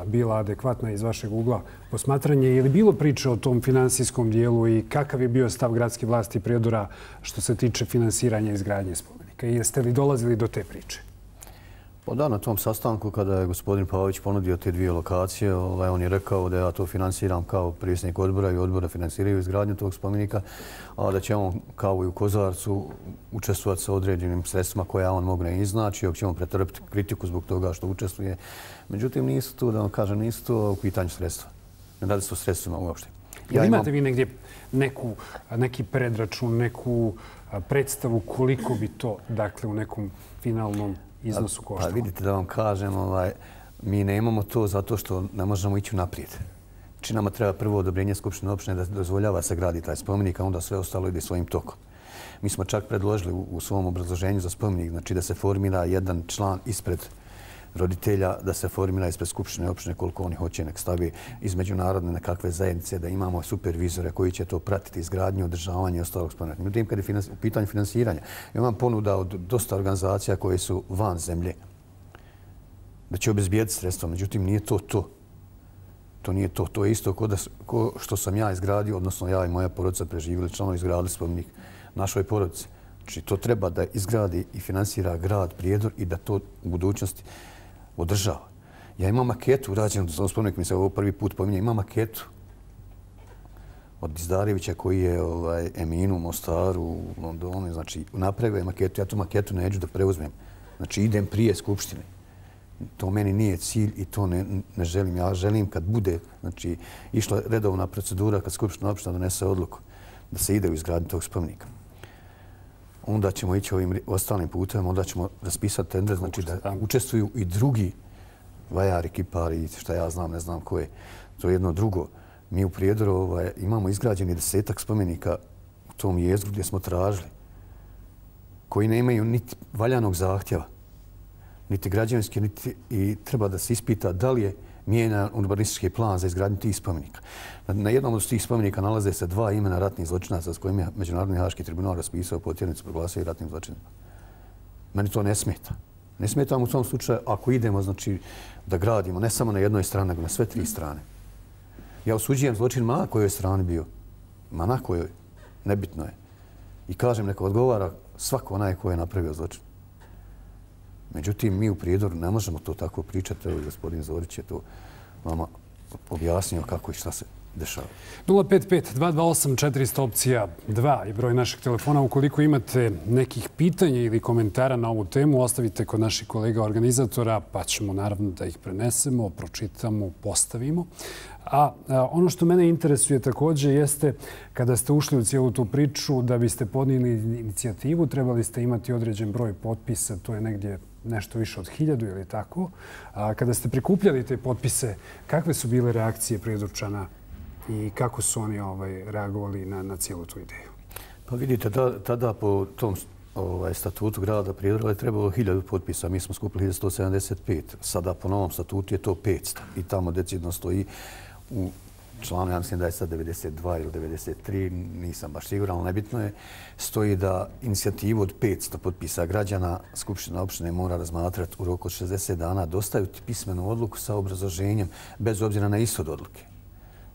Speaker 1: bila adekvatna iz vašeg ugla posmatranje, je li bilo priče o tom finansijskom dijelu i kakav je bio stav gradske vlasti Prijedora što se tiče finansiranja izgradnje spomenika? I jeste li dolazili do te priče?
Speaker 2: Pa da, na tom sastanku kada je gospodin Pavić ponudio te dvije lokacije, ovaj, on je rekao da ja to finansiram kao predsjednik odbora i odbora finansiraju izgradnju tog spomenika, a da će on kao i u Kozarcu učestvovati sa određenim sredstvima koja on mogne iznaći, ako će on pretrpiti kritiku zbog toga što učestvuje. Međutim, nisu to, da vam kažem, nisu to u pitanju sredstva. Ne radi se o sredstvima uopšte.
Speaker 1: Ja imate vi negdje neku, neki predračun, neku predstavu koliko bi to, dakle, u nekom finalnom iznosu koštalo?
Speaker 2: Pa vidite, da vam kažem, ovaj, mi ne imamo to zato što ne možemo ići naprijed. Znači, nama treba prvo odobrenje Skupštine opštine da dozvoljava se gradi taj spomenik, a onda sve ostalo ide svojim tokom. Mi smo čak predložili u, u svom obrazloženju za spomenik, znači da se formira jedan član ispred roditelja, da se formira ispred Skupštine opštine koliko oni hoće, nek stavi iz međunarodne nekakve zajednice, da imamo supervizore koji će to pratiti, izgradnju, održavanje i ostalog spomenika. Međutim, kad je u pitanju finansiranja, imam ponuda od dosta organizacija koje su van zemlje da će obezbijediti sredstva, međutim, nije to to. To nije to. To je isto ko, da, ko što sam ja izgradio, odnosno ja i moja porodica preživjeli, članovi izgradili spomenik našoj porodici. Znači, to treba da izgradi i finansira grad Prijedor i da to u budućnosti održava. Ja imam maketu urađenu, za spomenik mi se ovo prvi put pominje, imam maketu od Izdarevića koji je ovaj, Eminu u Mostaru, u Londonu, znači napravio je maketu, ja tu maketu neću da preuzmem. Znači idem prije Skupštine. To meni nije cilj i to ne, ne želim. Ja želim kad bude, znači išla redovna procedura, kad Skupština opština donese odluku da se ide u izgradnju tog spomenika. onda ćemo ići ovim ostalim putem, onda ćemo raspisati tender, znači da učestvuju i drugi vajari, kipari, šta ja znam, ne znam ko je. To je jedno drugo. Mi u Prijedoru ovaj, imamo izgrađeni desetak spomenika u tom jezgru gdje smo tražili, koji nemaju niti valjanog zahtjeva, niti građevinski, niti i treba da se ispita da li je mijenjan urbanistički plan za izgradnju tih spomenika. Na jednom od tih spomenika nalaze se dva imena ratnih zločinaca s kojim je Međunarodni haški tribunal raspisao potjernicu, proglasio i ratnim zločinima. Meni to ne smeta. Ne smeta mu u tom slučaju ako idemo znači, da gradimo ne samo na jednoj strani, nego na sve tri strane. Ja osuđujem zločin ma na kojoj strani bio. Ma na kojoj. Nebitno je. I kažem, neka odgovara svako onaj ko je napravio zločin. Međutim, mi u Prijedoru ne možemo to tako pričati. Evo, gospodin Zorić je to vama objasnio kako i šta se dešava.
Speaker 1: nula pet pet dva dva osam četiri zero zero opcija dva je broj našeg telefona. Ukoliko imate nekih pitanja ili komentara na ovu temu, ostavite kod naših kolega organizatora, pa ćemo naravno da ih prenesemo, pročitamo, postavimo. A ono što mene interesuje također jeste kada ste ušli u cijelu tu priču, da biste podnijeli inicijativu, trebali ste imati određen broj potpisa, to je negdje nešto više od hiljadu ili tako. A kada ste prikupljali te potpise, kakve su bile reakcije Prijedorčana i kako su oni ovaj, reagovali na, na cijelu tu ideju?
Speaker 2: Pa vidite, da, tada po tom ovaj, statutu grada Prijedora je trebalo hiljadu potpisa. Mi smo skupili hiljadu sto sedamdeset pet. Sada po novom statutu je to petsto. I tamo decidno stoji u članu, ja mislim da je sad devedeset dva ili devedeset tri, nisam baš siguran, ali nebitno je, stoji da inicijativu od petsto potpisa građana Skupština opštine mora razmatrati u roku od šezdeset dana, dostaviti pismenu odluku sa obrazloženjem bez obzira na ishod odluke.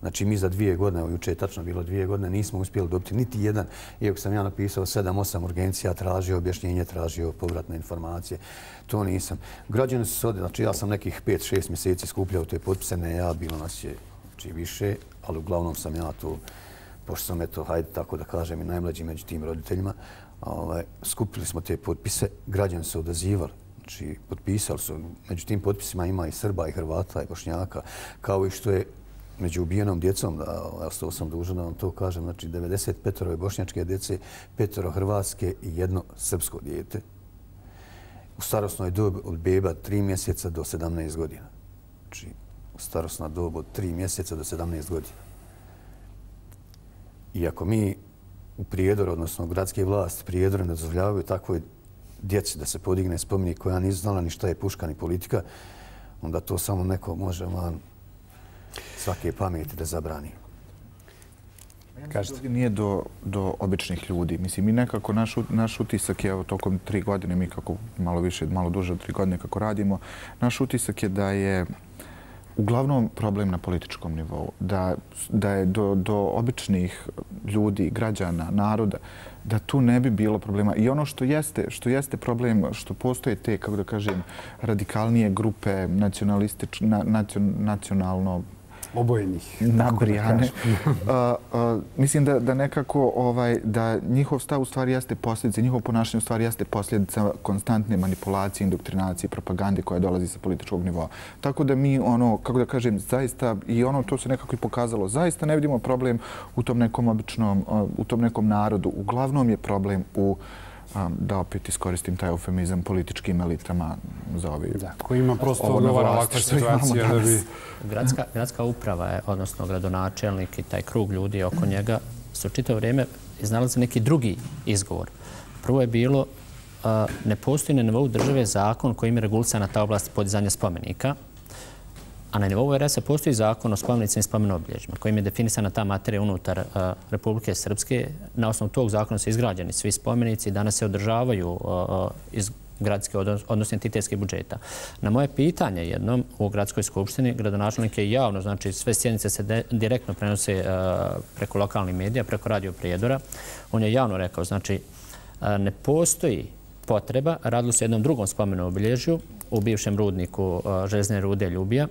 Speaker 2: Znači, mi za dvije godine, evo juče je tačno bilo dvije godine, nismo uspjeli dobiti niti jedan, iako sam ja napisao sedam osam urgencija, tražio objašnjenje, tražio povratne informacije. To nisam. Građani su se ovdje, znači ja sam nekih pet šest mjeseci skupljao te potpise, ne ja, bilo nas je znači, više, ali uglavnom sam ja to, pošto sam eto, hajde tako da kažem, i najmlađi među tim roditeljima, ovaj, skupili smo te potpise, građani su odazivali. Znači, potpisali su, među tim potpisima ima i Srba, i Hrvata, i Bošnjaka, kao i što je među ubijenom djecom, da, ja sam dužan da vam to kažem, znači devedeset pet bošnjačke djece, petoro hrvatske i jedno srpsko dijete. U starosnoj dobi od beba tri mjeseca do sedamnaest godina. Znači, u starosna dob od tri mjeseca do sedamnaest godina. I ako mi u Prijedoru, odnosno gradske vlasti Prijedora ne dozvoljavaju takvoj djeci da se podigne spomenik koja nisu znala ni šta je puška ni politika, onda to samo neko može van svake pameti da zabrani.
Speaker 5: Kažete. Nije do, do običnih ljudi. Mislim, mi nekako, naš, naš utisak je, evo, tokom tri godine, mi kako malo više, malo duže od tri godine kako radimo, naš utisak je da je uglavnom problem na političkom nivou. Da, da je do, do običnih ljudi, građana, naroda, da tu ne bi bilo problema. I ono što jeste, što jeste problem, što postoje te, kako da kažem, radikalnije grupe nacionalistične, na, nacion, nacionalno
Speaker 1: obojenih.
Speaker 5: Nabrijane. uh, uh, mislim da, da nekako ovaj, da njihov stav u stvari jeste posljedica, njihov ponašanje u stvari jeste posljedica konstantne manipulacije, indoktrinacije, propagande koja dolazi sa političkog nivoa. Tako da mi, ono, kako da kažem, zaista, i ono to se nekako i pokazalo, zaista ne vidimo problem u tom nekom običnom, uh, u tom nekom narodu. Uglavnom je problem u da opet iskoristim taj eufemizam političkim elitama za ovi...
Speaker 1: Da, koji ima prosto odgovara ovakva situacija da bi...
Speaker 4: Gradska, gradska uprava je, odnosno gradonačelnik i taj krug ljudi oko njega, su čitavo vrijeme iznalazi neki drugi izgovor. Prvo je bilo, a, ne postoji na nivou države zakon kojim je regulisana ta oblast podizanja spomenika, a na nivou er es a postoji zakon o spomenicima i spomenobilježjima kojim je definisana ta materija unutar uh, Republike Srpske. Na osnovu tog zakona su izgrađeni svi spomenici i danas se održavaju uh, iz gradske, odnosno entitetskih budžeta. Na moje pitanje jednom u gradskoj skupštini gradonačelnik je javno, znači sve sjednice se de, direktno prenose uh, preko lokalnih medija, preko Radio Prijedora. On je javno rekao, znači uh, ne postoji potreba, radilo se jednom drugom spomenu obilježju u bivšem rudniku uh, željezne rude Ljubija.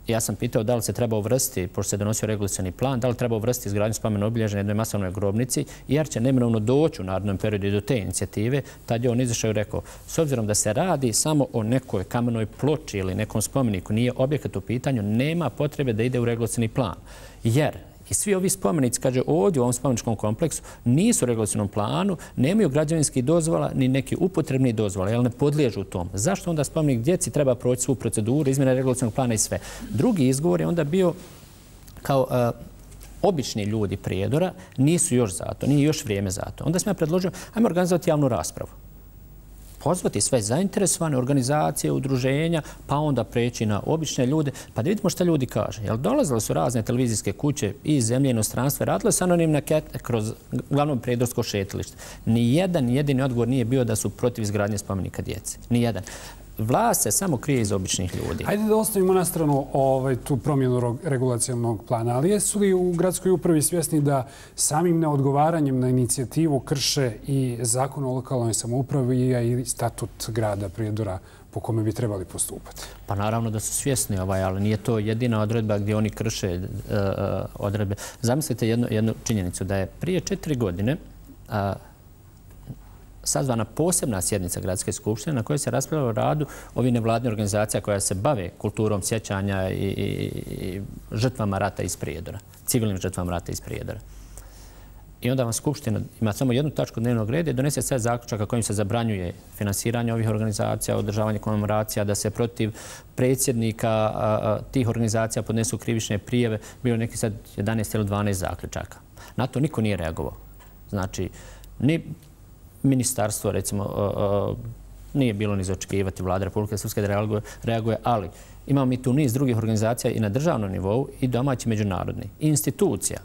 Speaker 4: Ja sam pitao da li se treba uvrstiti, pošto se donosio regulisani plan, da li treba uvrstiti izgradnju spomena obilježja na jednoj masovnoj grobnici, jer će neminovno doći u narednom periodu do te inicijative. Tad je on izašao i rekao, s obzirom da se radi samo o nekoj kamenoj ploči ili nekom spomeniku, nije objekat u pitanju, nema potrebe da ide u regulisani plan. Jer I svi ovi spomenici, kaže, ovdje u ovom spomeničkom kompleksu nisu u regulacionom planu, nemaju građevinskih dozvola ni neki upotrebni dozvola, jer ne podliježu tom. Zašto onda spomenik djeci treba proći svu proceduru, izmjena regulacionog plana i sve? Drugi izgovor je onda bio kao uh, obični ljudi Prijedora nisu još za to, nije još vrijeme za to. Onda sam ja predložio, ajmo organizovati javnu raspravu. Pozvati sve zainteresovane organizacije, udruženja, pa onda preći na obične ljude, pa da vidimo šta ljudi kaže. Jer dolazile su razne televizijske kuće iz zemlje i inostranstva, radile su anonimne ankete kroz glavno prijedorsko šetalište. Nijedan jedini odgovor nije bio da su protiv izgradnje spomenika djece. Nijedan. Vlast se samo krije iz običnih ljudi.
Speaker 1: Hajde da ostavimo na stranu ovaj, tu promjenu regulacijalnog plana, ali jesu li u gradskoj upravi svjesni da samim neodgovaranjem na inicijativu krše i zakon o lokalnoj samoupravi i statut grada Prijedora po kome bi trebali postupati?
Speaker 4: Pa naravno da su svjesni, ovaj, ali nije to jedina odredba gdje oni krše uh, odredbe. Zamislite jednu, jednu činjenicu da je prije četiri godine uh, sazvana posebna sjednica Gradske skupštine na kojoj se raspravljalo o radu ovih nevladnih organizacija koja se bave kulturom sjećanja i, i, i žrtvama rata iz Prijedora, civilnim žrtvama rata iz Prijedora. I onda vam skupština ima samo jednu tačku dnevnog reda i donese sve zaključaka kojim se zabranjuje finansiranje ovih organizacija, održavanje komemoracija, da se protiv predsjednika a, a, tih organizacija podnesu krivične prijave. Bilo neki sad jedanaest ili dvanaest zaključaka. Na to niko nije reagovao. Znači, ni ministarstvo, recimo, uh, uh, nije bilo ni za očekivati Vlada Republike Srpske da reaguje, reaguje, ali imamo mi tu niz drugih organizacija i na državnom nivou i domaći međunarodni. I institucija.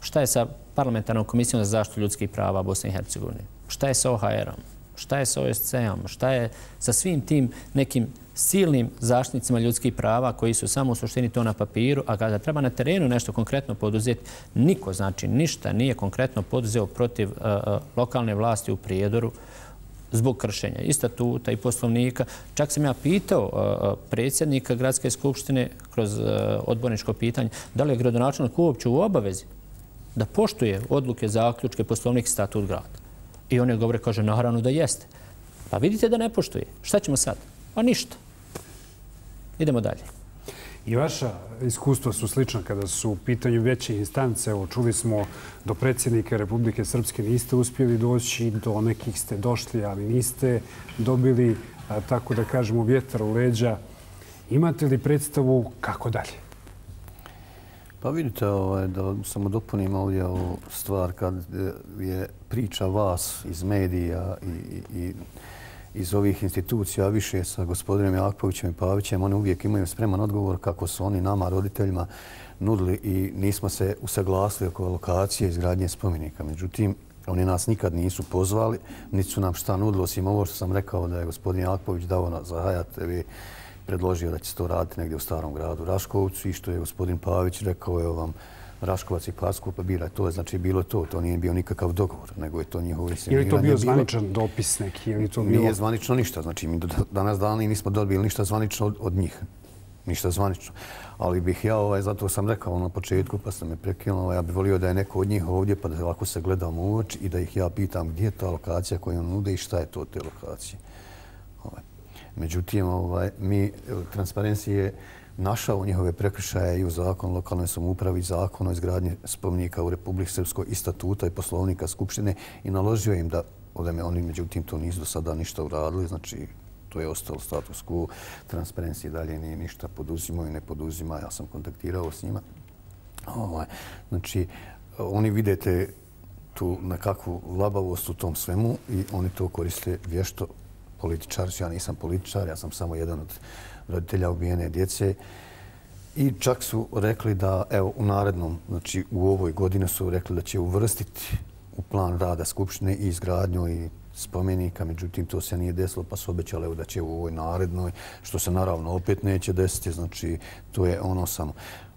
Speaker 4: Šta je sa Parlamentarnom komisijom za zaštitu ljudskih prava Bosne i Hercegovine? Šta je sa O H R-om? Šta je sa O S C-om? Šta je sa svim tim nekim silnim zaštitnicima ljudskih prava koji su samo u suštini to na papiru, a kada treba na terenu nešto konkretno poduzeti, niko, znači ništa nije konkretno poduzeo protiv uh, lokalne vlasti u Prijedoru zbog kršenja i statuta i poslovnika. Čak sam ja pitao uh, predsjednika Gradske skupštine kroz uh, odborničko pitanje da li je gradonačelnik uopće u obavezi da poštuje odluke, zaključke, poslovnik i statut grada. I on je govore, kaže, naravno da jeste. Pa vidite da ne poštuje. Šta ćemo sad? Pa ništa. Idemo dalje.
Speaker 1: I vaša iskustva su slična kada su u pitanju veće instance. Evo, čuli smo do predsjednika Republike Srpske niste uspjeli doći, do nekih ste došli, ali niste dobili, a, tako da kažemo, vjetar u leđa. Imate li predstavu kako dalje?
Speaker 2: Pa vidite, ovaj, da samo dopunim ovdje ovu stvar kad je priča vas iz medija i, i, i iz ovih institucija, više sa gospodinom Jakovićem i Pavićem, oni uvijek imaju spreman odgovor kako su oni nama, roditeljima, nudili i nismo se usaglasili oko lokacije izgradnje spomenika. Međutim, oni nas nikad nisu pozvali, niti su nam šta nudili, osim ovo što sam rekao da je gospodin Jaković dao za Hayat T V predložio da će se to raditi negdje u starom gradu Raškovcu i što je gospodin Pavić rekao je vam Raškovac i Parsko, pa bira to. Znači, bilo to. To nije bio nikakav dogovor, nego je to njihovo insinuiranje.
Speaker 1: Ili to bio zvaničan dopis neki? Ili to bilo...
Speaker 2: Nije zvanično ništa. Znači, mi do danas dani nismo dobili ništa zvanično od, od njih. Ništa zvanično. Ali bih ja, ovaj, zato sam rekao na početku, pa sam me prekinuo, ovaj, ja bih volio da je neko od njih ovdje, pa da ovako se gledamo u oči i da ih ja pitam gdje je ta lokacija koju on nude i šta je to od te lokacije. Ovaj. Međutim, ovaj, mi, Transparency je našao njihove prekršaje i u zakonu o lokalnoj samoupravi i zakonu o izgradnji spomenika u Republici Srpskoj i statuta i poslovnika Skupštine i naložio im da odeme oni, međutim, to nisu do sada ništa uradili, znači to je ostalo status quo. Transparency dalje nije ništa poduzimao i ne poduzima. Ja sam kontaktirao s njima. Ovaj, znači, oni vidite tu nekakvu labavost u tom svemu i oni to koriste vješto. Političar, ja nisam političar, ja sam samo jedan od roditelja ubijene djece. I čak su rekli da, evo, u narednom, znači u ovoj godini su rekli da će uvrstiti u plan rada Skupštine i izgradnju i spomenika, međutim to se nije desilo, pa su obećali evo, da će u ovoj narednoj, što se naravno opet neće desiti, znači to je ono samo.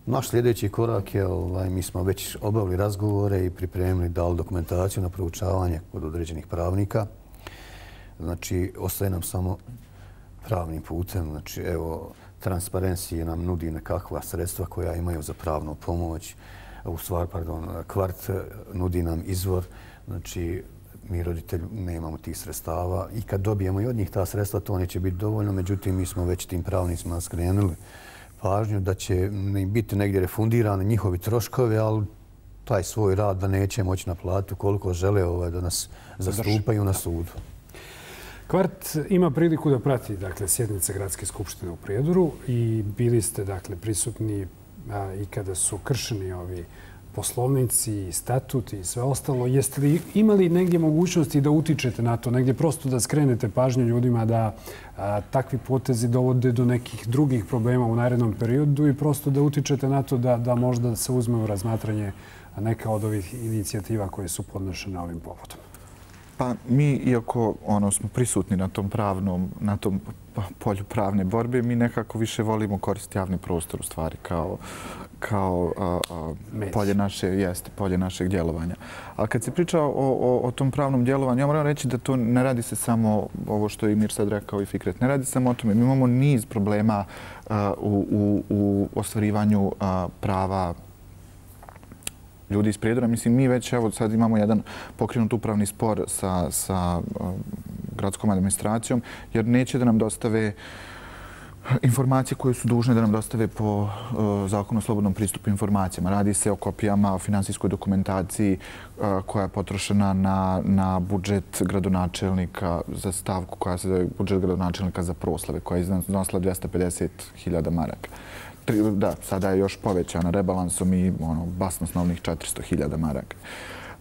Speaker 2: Naš sljedeći korak je, ovaj, mi smo već obavili razgovore i pripremili, dali dokumentaciju na proučavanje kod određenih pravnika. Znači, ostaje nam samo pravnim putem. Znači, evo, Transparency nam nudi nekakva sredstva koja imaju za pravnu pomoć. U stvari, pardon, Kvart nudi nam izvor. Znači, mi roditelji nemamo tih sredstava i kad dobijemo i od njih ta sredstva, to neće biti dovoljno. Međutim, mi smo već tim pravnicima skrenuli pažnju da će im biti negdje refundirani njihovi troškovi, ali taj svoj rad da neće moći naplatiti koliko žele da nas zastupaju na sudu.
Speaker 1: Kvart ima priliku da prati dakle, sjednice Gradske skupštine u Prijedoru i bili ste dakle, prisutni a, i kada su kršeni ovi poslovnici, statuti i sve ostalo. Jeste li imali negdje mogućnosti da utičete na to, negdje prosto da skrenete pažnju ljudima da a, takvi potezi dovode do nekih drugih problema u narednom periodu i prosto da utičete na to da, da možda se uzme u razmatranje neka od ovih inicijativa koje su podnošene ovim povodom?
Speaker 5: Pa mi, iako ono, smo prisutni na tom pravnom, na tom polju pravne borbe, mi nekako više volimo koristiti javni prostor u stvari kao, kao a, a, polje, naše, jeste, polje našeg djelovanja. Ali kad se priča o, o, o tom pravnom djelovanju, ja moram reći da to ne radi se samo ovo što je Mir sad rekao i Fikret. Ne radi se samo o tome. Mi imamo niz problema a, u, u, u ostvarivanju a, prava ljudi iz Prijedora. Mislim, mi već evo sad imamo jedan pokrenut upravni spor sa, sa uh, gradskom administracijom jer neće da nam dostave informacije koje su dužne da nam dostave po uh, zakonu o slobodnom pristupu informacijama. Radi se o kopijama, o finansijskoj dokumentaciji uh, koja je potrošena na, na budžet gradonačelnika za stavku koja se zove budžet gradonačelnika za proslave koja je iznosila dvjesto pedeset hiljada maraka. Da, sada je još povećana rebalansom i ono, basnoslovnih četiristo hiljada maraka.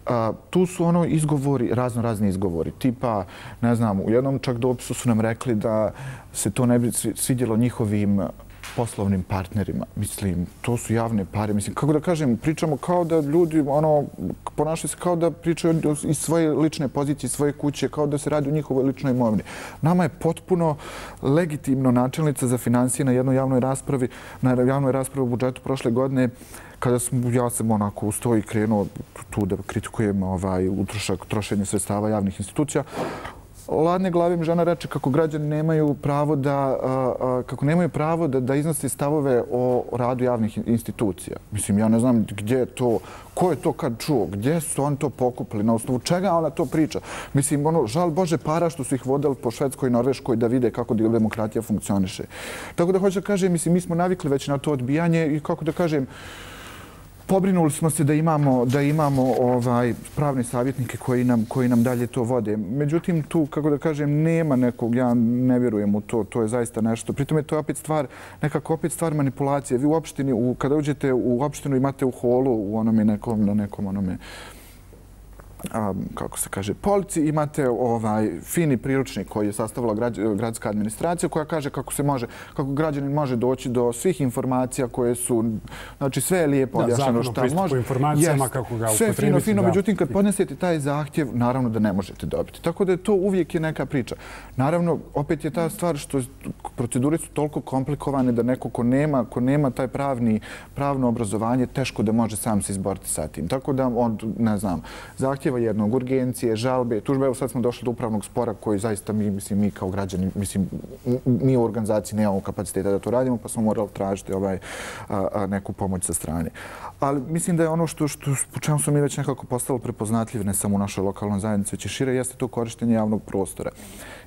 Speaker 5: A, tu su ono izgovori, razno razni izgovori. Tipa, ne znam, u jednom čak dopisu su nam rekli da se to ne bi svidjelo njihovim poslovnim partnerima. Mislim, to su javne pare. Mislim, kako da kažem, pričamo kao da ljudi ono, ponašaju se kao da pričaju iz svoje lične pozicije, svoje kuće, kao da se radi o njihovoj ličnoj imovini. Nama je potpuno legitimno načelnica za financije na jednoj javnoj raspravi, na javnoj raspravi u budžetu prošle godine, kada sam, ja sam onako usto i krenuo tu da kritikujem ovaj, utrošak, trošenje sredstava javnih institucija, ladne glave mi žena reče kako građani nemaju pravo da, kako nemaju pravo da, da iznose stavove o radu javnih institucija. Mislim, ja ne znam gdje je to, ko je to kad čuo, gdje su oni to pokupili, na osnovu čega ona to priča. Mislim, ono, žal Bože para što su ih vodili po Švedskoj i Norveškoj da vide kako demokratija funkcioniše. Tako da hoću da kažem, mislim, mi smo navikli već na to odbijanje i kako da kažem, pobrinuli smo se da imamo, da imamo ovaj, pravne savjetnike koji nam, koji nam dalje to vode. Međutim, tu, kako da kažem, nema nekog, ja ne vjerujem u to, to je zaista nešto. Pritom je to opet stvar, nekako opet stvar manipulacije. Vi u opštini, u, kada uđete u opštinu imate u holu, u onome nekom, na nekom onome, a, kako se kaže, polici, imate ovaj fini priručnik koji je sastavila gradska administracija koja kaže kako se može, kako građanin može doći do svih informacija koje su, znači sve je lijepo objašnjeno šta može.
Speaker 1: Zakon o informacijama, kako ga
Speaker 5: sve fino, fino, međutim kad podnesete taj zahtjev, naravno da ne možete dobiti. Tako da je to uvijek je neka priča. Naravno, opet je ta stvar što procedure su toliko komplikovane da neko ko nema, ko nema taj pravni, pravno obrazovanje, teško da može sam se izboriti sa tim. Tako da on, ne znam, zahtjeva jednog, urgencije, žalbe, tužbe. Evo sad smo došli do upravnog spora koji zaista mi, mislim, mi kao građani, mislim, mi u organizaciji nemamo kapaciteta da to radimo, pa smo morali tražiti ovaj, a, a, neku pomoć sa strane. Ali mislim da je ono što, što po čemu smo mi već nekako postalo prepoznatljiv, ne samo u našoj lokalnoj zajednici, već i šire, jeste to korištenje javnog prostora.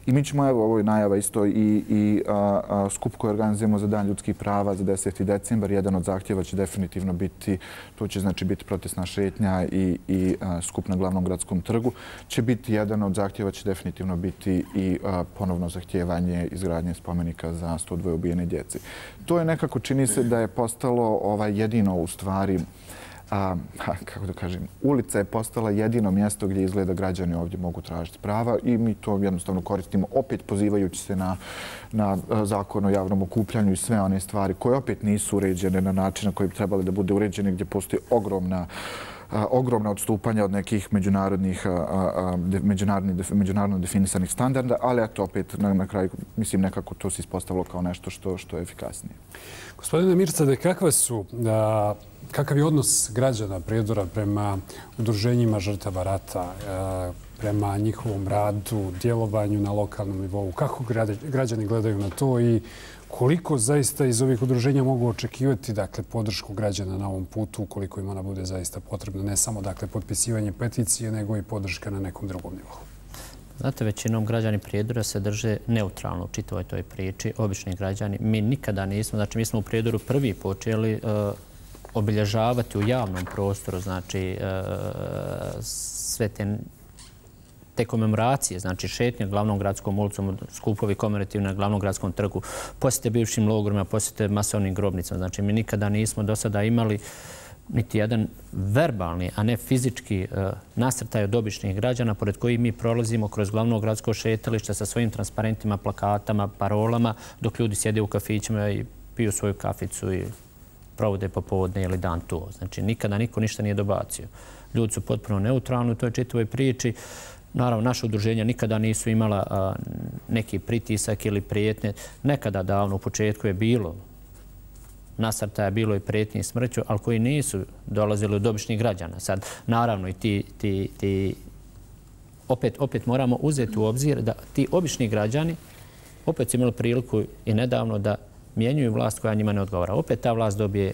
Speaker 5: I mi ćemo, evo, ovo je najava isto i, i a, a, skup koji organizujemo za Dan ljudskih prava za deseti decembar. Jedan od zahtjeva će definitivno biti, to će znači biti protestna šetnja i, i a, skup na glavnom gradskom trgu. Će biti jedan od zahtjeva, će definitivno biti i a, ponovno zahtjevanje izgradnje spomenika za sto dvoje ubijene djece. To je nekako, čini se da je postalo ovaj, jedino u stvari, A, kako da kažem, ulica je postala jedino mjesto gdje izgleda građani ovdje mogu tražiti prava i mi to jednostavno koristimo, opet pozivajući se na, na zakon o javnom okupljanju i sve one stvari koje opet nisu uređene na način na koji bi trebali da bude uređene, gdje postoji ogromna A, ogromna odstupanja od nekih međunarodnih, a, a, međunarodnih, međunarodno definisanih standarda, ali eto opet na, na kraju, mislim, nekako to se ispostavilo kao nešto što, što je efikasnije.
Speaker 1: Gospodine Mirsade, kakve su, a, kakav je odnos građana Prijedora prema udruženjima žrtava rata, a, prema njihovom radu, djelovanju na lokalnom nivou? Kako građani gledaju na to i koliko zaista iz ovih udruženja mogu očekivati dakle, podršku građana na ovom putu, koliko im ona bude zaista potrebna, ne samo dakle, potpisivanje peticije, nego i podrška na nekom drugom nivou?
Speaker 4: Znate, većinom građani Prijedora se drže neutralno u čitavoj toj priči, obični građani. Mi nikada nismo, znači mi smo u Prijedoru prvi počeli obilježavati u javnom prostoru, znači sve te te komemoracije, znači šetnje glavnom gradskom ulicom, skupovi komemorativni na glavnom gradskom trgu, posjete bivšim logorima, posjete masovnim grobnicama. Znači mi nikada nismo do sada imali niti jedan verbalni, a ne fizički nasrtaj od običnih građana pored kojih mi prolazimo kroz glavno gradsko šetalište sa svojim transparentima, plakatama, parolama, dok ljudi sjede u kafićima i piju svoju kaficu i provode popodne ili dan tu. Znači nikada niko ništa nije dobacio. Ljudi su potpuno neutralni u toj čitavoj priči. Naravno, naše udruženja nikada nisu imala neki pritisak ili prijetnje. Nekada davno u početku je bilo nasrtaja, bilo i prijetnje smrću, ali koji nisu dolazili od običnih građana. Sad, naravno, i ti, ti, ti opet, opet moramo uzeti u obzir da ti obični građani opet su imali priliku i nedavno da mijenjuju vlast koja njima ne odgovara. Opet ta vlast dobije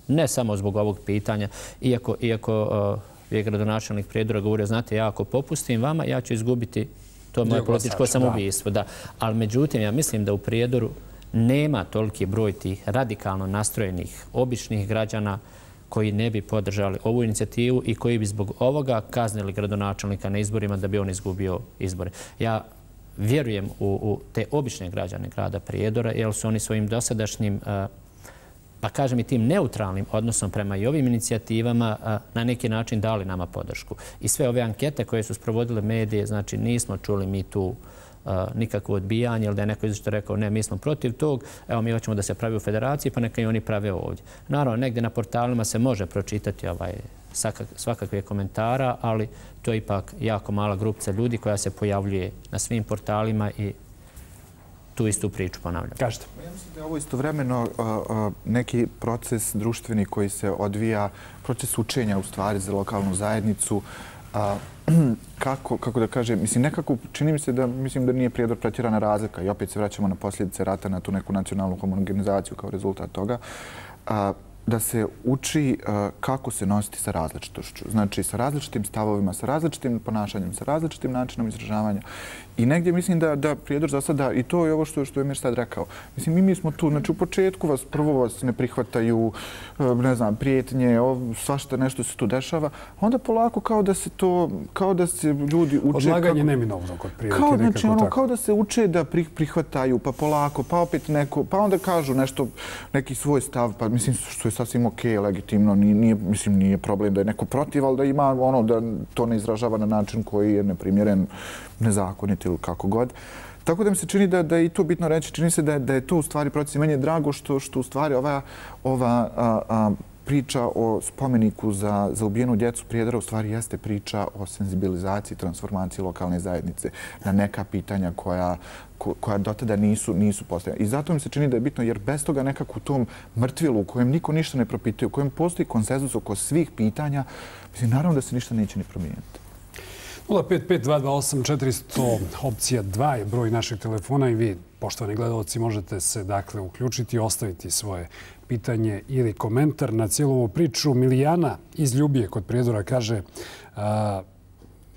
Speaker 4: ne samo zbog ovog pitanja, iako, iako je gradonačelnik Prijedora govorio, znate, ja ako popustim vama, ja ću izgubiti to moje političko samoubistvo. Da. Ali međutim, ja mislim da u Prijedoru nema toliki broj tih radikalno nastrojenih, običnih građana koji ne bi podržali ovu inicijativu i koji bi zbog ovoga kaznili gradonačelnika na izborima da bi on izgubio izbore. Ja vjerujem u, u te obične građane grada Prijedora, jer su oni svojim dosadašnjim pa kažem i tim neutralnim odnosom prema i ovim inicijativama na neki način dali nama podršku. I sve ove ankete koje su sprovodile medije, znači nismo čuli mi tu nikakvo odbijanje ili da je neko izašto rekao ne, mi smo protiv tog, evo mi hoćemo da se pravi u federaciji pa neka i oni prave ovdje. Naravno, negdje na portalima se može pročitati ovaj, svakakve komentara, ali to je ipak jako mala grupca ljudi koja se pojavljuje na svim portalima i tu istu priču ponavljam.
Speaker 1: Kažete.
Speaker 5: Ja mislim da je ovo istovremeno neki proces društveni koji se odvija, proces učenja u stvari za lokalnu zajednicu. Kako, kako da kažem, mislim, nekako čini mi se da, mislim da nije Prijedor pretjerana razlika i opet se vraćamo na posljedice rata, na tu neku nacionalnu homogenizaciju kao rezultat toga. Da se uči kako se nositi sa različitošću. Znači, sa različitim stavovima, sa različitim ponašanjem, sa različitim načinom izražavanja. I negdje mislim da, da Prijedor za sada, i to je ovo što, što je Mir sad rekao, mislim, mi, mi smo tu, znači u početku vas, prvo vas ne prihvataju, ne znam, prijetnje, svašta nešto se tu dešava, onda polako kao da se to, kao da se ljudi uče...
Speaker 1: Odlaganje neminovno kod prilike,
Speaker 5: kao,
Speaker 1: nekako
Speaker 5: znači, ono,
Speaker 1: tako.
Speaker 5: Kao da se uče da prihvataju, pa polako, pa opet neko, pa onda kažu nešto, neki svoj stav, pa mislim, što je sasvim okej, legitimno, nije, nije, mislim, nije problem da je neko protiv, ali da ima ono, da to ne izražava na način koji je neprimjeren, nezakonit ili kako god. Tako da mi se čini da, da je i to bitno reći, čini se da je, da je to u stvari proces. Meni je drago što, što u stvari ova, ova a, a, priča o spomeniku za, za ubijenu djecu Prijedora u stvari jeste priča o senzibilizaciji, transformaciji lokalne zajednice na neka pitanja koja, ko, koja dotada nisu, nisu postavljena. I zato mi se čini da je bitno jer bez toga nekako u tom mrtvilu u kojem niko ništa ne propituje, u kojem postoji konsenzus oko svih pitanja, mislim, naravno da se ništa neće ni promijeniti.
Speaker 1: nula pet pet dva dva osam četiri zero zero opcija dva je broj našeg telefona i vi, poštovani gledalci, možete se dakle uključiti i ostaviti svoje pitanje ili komentar na cijelu ovu priču. Milijana iz Ljubije kod Prijedora kaže a,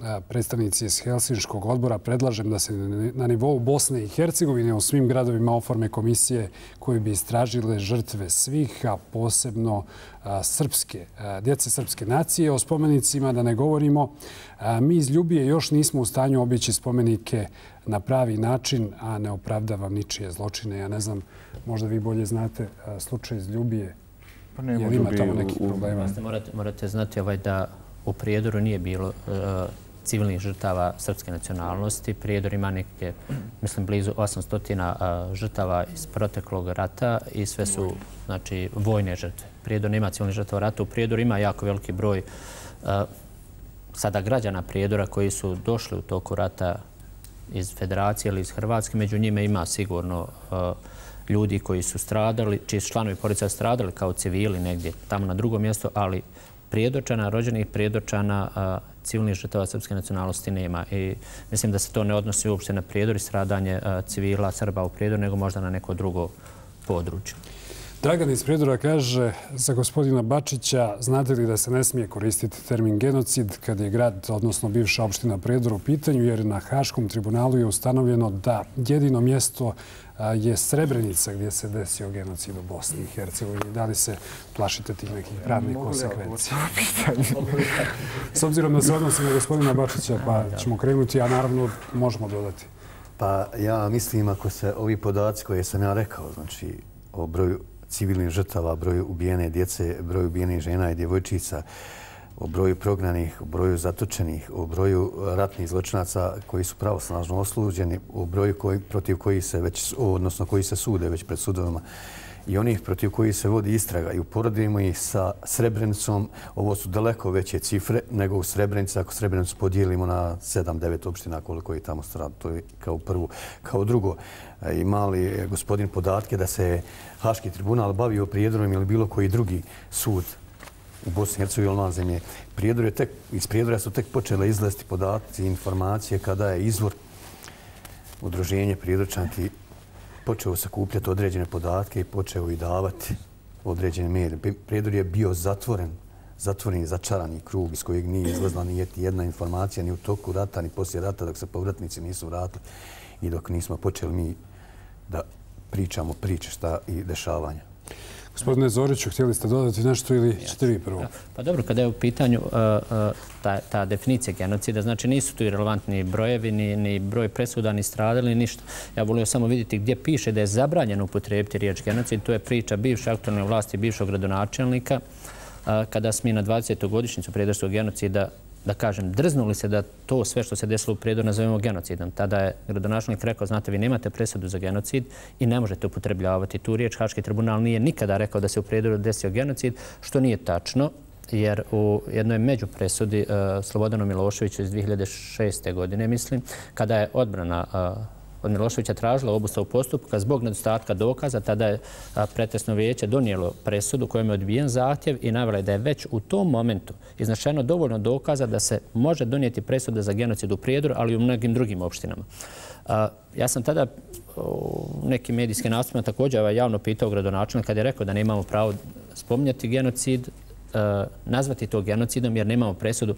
Speaker 1: a, predstavnici iz Helsinškog odbora predlažem da se na nivou Bosne i Hercegovine u svim gradovima oforme komisije koje bi istražile žrtve svih, a posebno a, srpske, a, djece srpske nacije. O spomenicima da ne govorimo. A, mi iz Ljubije još nismo u stanju obići spomenike na pravi način, a ne opravdavam ničije zločine. Ja ne znam, možda vi bolje znate a, slučaj iz Ljubije.
Speaker 5: Pa nema
Speaker 1: jer ima tamo nekih problema.
Speaker 4: Morate, morate znati ovaj da u Prijedoru nije bilo uh, civilnih žrtava srpske nacionalnosti. Prijedor ima neke, mislim, blizu osamsto uh, žrtava iz proteklog rata i sve su, znači, vojne žrtve. Prijedor nema civilnih žrtava rata. U Prijedoru ima jako veliki broj uh, sada građana Prijedora koji su došli u toku rata iz Federacije ili iz Hrvatske. Među njima ima sigurno uh, ljudi koji su stradali, čiji su članovi porodica stradali kao civili negdje tamo na drugom mjestu, ali Prijedorčana, rođenih Prijedorčana, uh, civilnih žrtava srpske nacionalnosti nema. I mislim da se to ne odnosi uopšte na Prijedor i stradanje uh, civila Srba u Prijedoru, nego možda na neko drugo područje.
Speaker 1: Dragan iz Prijedora kaže za gospodina Bačića, znate li da se ne smije koristiti termin genocid kad je grad, odnosno bivša opština Prijedor u pitanju, jer na Haškom tribunalu je ustanovljeno da jedino mjesto je Srebrenica gdje se desio genocid u Bosni i Hercegovini. Da li se plašite tih nekih pravnih konsekvencija? S obzirom da se odnosi na gospodina Bačića, pa ćemo krenuti, a naravno možemo dodati.
Speaker 2: Pa ja mislim, ako se ovi podaci koje sam ja rekao, znači o broju civilnih žrtava, broju ubijene djece, broju ubijenih žena i djevojčica, o broju prognanih, o broju zatočenih, o broju ratnih zločinaca koji su pravosnažno osuđeni, o broju koji, protiv kojih se već, odnosno koji se sude već pred sudovima i onih protiv kojih se vodi istraga i uporedimo ih sa Srebrenicom, ovo su daleko veće cifre nego u Srebrenici. Ako Srebrenicu podijelimo na sedam devet opština koliko je tamo strada, to je kao prvo. Kao drugo, ima li gospodin podatke da se Haški tribunal bavio Prijedorom ili bilo koji drugi sud u Bosni i Hercegovini ili na zemlje? Prijedor je tek, iz Prijedora su tek počele izlaziti podaci i informacije kada je izvor udruženje Prijedorčanki počeo sakupljati određene podatke i počeo i davati određene medije. Prijedor je bio zatvoren, zatvoren i začarani krug iz kojeg nije izlazila ni jedna informacija ni u toku rata, ni poslije rata dok se povratnici nisu vratili i dok nismo počeli mi da pričamo priče šta i dešavanja.
Speaker 1: Gospodine Zoriću, htjeli ste dodati nešto ili ćete vi prvo?
Speaker 4: Pa dobro, kada je u pitanju ta, ta definicija genocida, znači nisu tu i relevantni brojevi, ni, ni broj presuda, ni stradali, ni ništa. Ja volio samo vidjeti gdje piše da je zabranjeno upotrijebiti riječ genocid. To je priča bivše aktualne vlasti, bivšeg gradonačelnika. Kada smo na dvadesetu godišnjicu prijedorskog genocida, da kažem, drznuli se da to sve što se desilo u Prijedoru nazovemo genocidom. Tada je gradonačelnik rekao, znate, vi nemate presudu za genocid i ne možete upotrebljavati tu riječ. Haški tribunal nije nikada rekao da se u Prijedoru desio genocid, što nije tačno, jer u jednoj međupresudi Slobodanu Miloševiću iz dvije hiljade šeste. godine, mislim, kada je odbrana od Miloševića tražila obustavu postupka zbog nedostatka dokaza, tada je pretresno vijeće donijelo presudu kojom je odbijen zahtjev i navela je da je već u tom momentu iznašeno dovoljno dokaza da se može donijeti presuda za genocid u Prijedoru, ali i u mnogim drugim opštinama. Ja sam tada u nekim medijskim nastupima također javno pitao gradonačelnika kad je rekao da ne imamo pravo spominjati genocid, nazvati to genocidom jer nemamo presudu.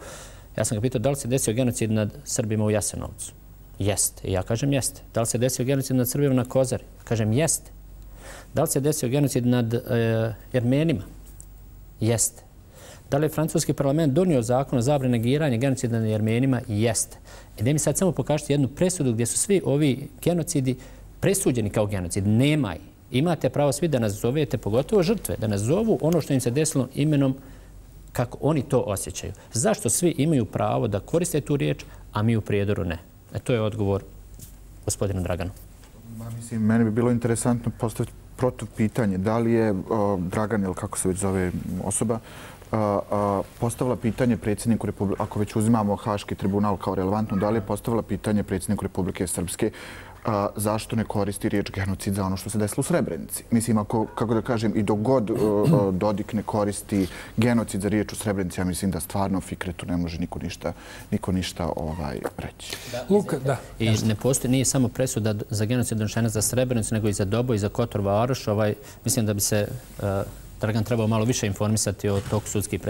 Speaker 4: Ja sam ga pitao da li se desio genocid nad Srbima u Jasenovcu. Jeste. I ja kažem jeste. Da li se desio genocid nad Srbima na Kozari? Kažem jeste. Da li se desio genocid nad e, Jermenima? Jeste. Da li je francuski parlament donio zakon o zabrani negiranja genocida nad Jermenima? Jeste. I da mi sad samo pokažete jednu presudu gdje su svi ovi genocidi presuđeni kao genocid. Nema ih. Imate pravo svi da nas zovete, pogotovo žrtve, da nas zovu ono što im se desilo imenom kako oni to osjećaju. Zašto svi imaju pravo da koriste tu riječ, a mi u Prijedoru ne? E, to je odgovor gospodinu Draganu.
Speaker 5: Mislim, meni bi bilo interesantno postaviti protiv pitanje. Da li je o, Dragan, ili kako se već zove osoba, a, a, postavila pitanje predsjedniku Republike, ako već uzimamo Haški tribunal kao relevantno, da li je postavila pitanje predsjedniku Republike Srpske a, zašto ne koristi riječ genocid za ono što se desilo u Srebrenici? Mislim, ako, kako da kažem, i dok god a, Dodik ne koristi genocid za riječ u Srebrenici, ja mislim da stvarno Fikretu ne može niko ništa, niko ništa ovaj, reći.
Speaker 4: Da, Luka, da. I ne postoji, nije samo presuda za genocid donošena za Srebrenicu, nego i za Dobo i za Kotor Varoš. Ovaj, mislim da bi se a, Dragan trebao malo više informisati o toku sudskih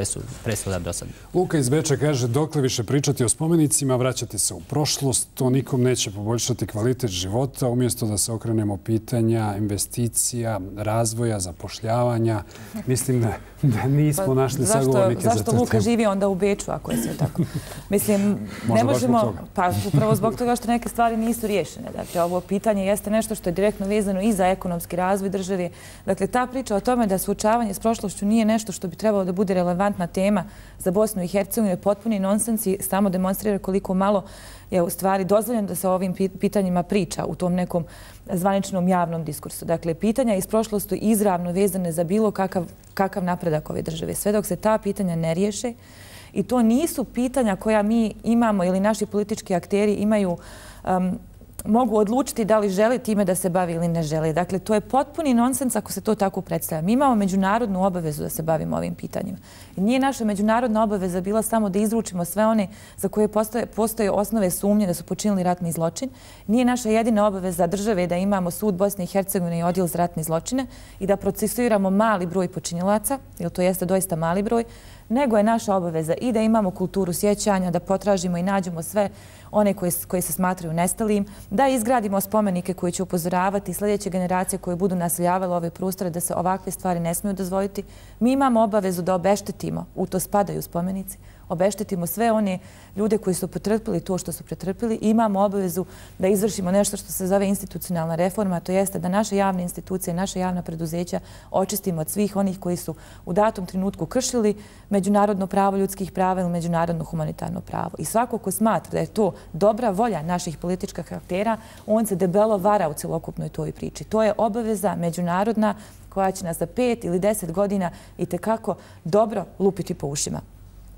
Speaker 4: presuda do sada.
Speaker 1: Luka iz Beča kaže dokle više pričati o spomenicima, vraćati se u prošlost, to nikom neće poboljšati kvalitet života, umjesto da se okrenemo pitanja investicija, razvoja, zapošljavanja. Mislim da, da nismo pa, našli zašto, sagovornike za to.
Speaker 3: Zašto Luka živi onda u Beču, ako je sve tako? Mislim, ne možemo, pa upravo zbog toga što neke stvari nisu riješene. Dakle, ovo pitanje jeste nešto što je direktno vezano i za ekonomski razvoj države. Dakle, ta priča o tome da suočavanje s prošlošću nije nešto što bi trebalo da bude relevantna tema za Bosnu i Hercegovinu, je potpuni nonsens i samo demonstrira koliko malo je u stvari dozvoljeno da se o ovim pitanjima priča u tom nekom zvaničnom javnom diskursu. Dakle, pitanja iz prošlosti izravno vezane za bilo kakav, kakav napredak ove države. Sve dok se ta pitanja ne riješe, i to nisu pitanja koja mi imamo ili naši politički akteri imaju um, mogu odlučiti da li žele time da se bavi ili ne žele. Dakle, to je potpuni nonsens ako se to tako predstavlja. Mi imamo međunarodnu obavezu da se bavimo ovim pitanjima. I nije naša međunarodna obaveza bila samo da izručimo sve one za koje postoje, postoje osnove sumnje da su počinili ratni zločin. Nije naša jedina obaveza države da imamo sud Bosne i Hercegovine i odjel za ratne zločine i da procesuiramo mali broj počinilaca, jer to jeste doista mali broj, nego je naša obaveza i da imamo kulturu sjećanja, da potražimo i nađemo sve one koje, koje se smatraju nestalim, da izgradimo spomenike koji će upozoravati sljedeće generacije koje budu naseljavale ove prostore da se ovakve stvari ne smiju dozvoliti. Mi imamo obavezu da obeštetimo, u to spadaju spomenici, obeštetimo sve one ljude koji su pretrpili to što su pretrpili i imamo obavezu da izvršimo nešto što se zove institucionalna reforma, to jeste da naše javne institucije, naše javna preduzeća očistimo od svih onih koji su u datom trenutku kršili međunarodno pravo ljudskih prava ili međunarodno humanitarno pravo. I svako ko smatra da je to dobra volja naših političkih aktera, on se debelo vara u celokupnoj toj priči. To je obaveza međunarodna koja će nas za pet ili deset godina itekako dobro lupiti po ušima.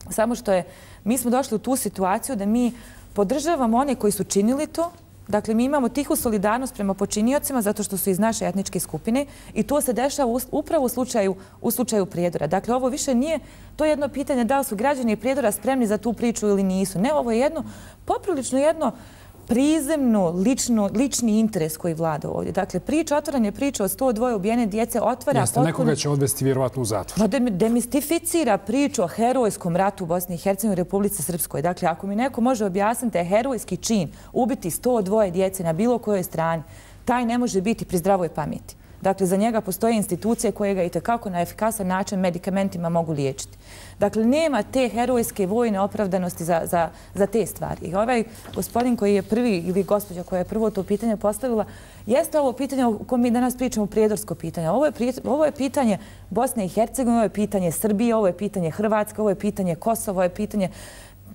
Speaker 3: Samo što je, mi smo došli u tu situaciju da mi podržavamo one koji su činili to. Dakle, mi imamo tihu solidarnost prema počiniocima zato što su iz naše etničke skupine i to se dešava upravo u slučaju, u slučaju Prijedora. Dakle, ovo više nije to jedno pitanje da li su građani Prijedora spremni za tu priču ili nisu. Ne, ovo je jedno, poprilično jedno prizemno, lično, lični interes koji vlada ovdje. Dakle, priča, otvaranje priča o sto dva ubijene djece otvara...
Speaker 1: Jeste,
Speaker 3: potpuno...
Speaker 1: nekoga će odvesti vjerovatno u zatvor.
Speaker 3: Demistificira priču o herojskom ratu u Bosni i Hercegovini i Republici Srpskoj. Dakle, ako mi neko može objasniti da je herojski čin ubiti sto dva djece na bilo kojoj strani, taj ne može biti pri zdravoj pameti. Dakle, za njega postoje institucije koje ga itekako na efikasan način medikamentima mogu liječiti. Dakle, nema te herojske vojne opravdanosti za, za, za te stvari. I ovaj gospodin koji je prvi, ili gospođa koja je prvo to pitanje postavila, jeste ovo pitanje o kojem mi danas pričamo, prijedorsko pitanje. Ovo je, ovo je pitanje Bosne i Hercegovine, ovo je pitanje Srbije, ovo je pitanje Hrvatske, ovo je pitanje Kosova, ovo je pitanje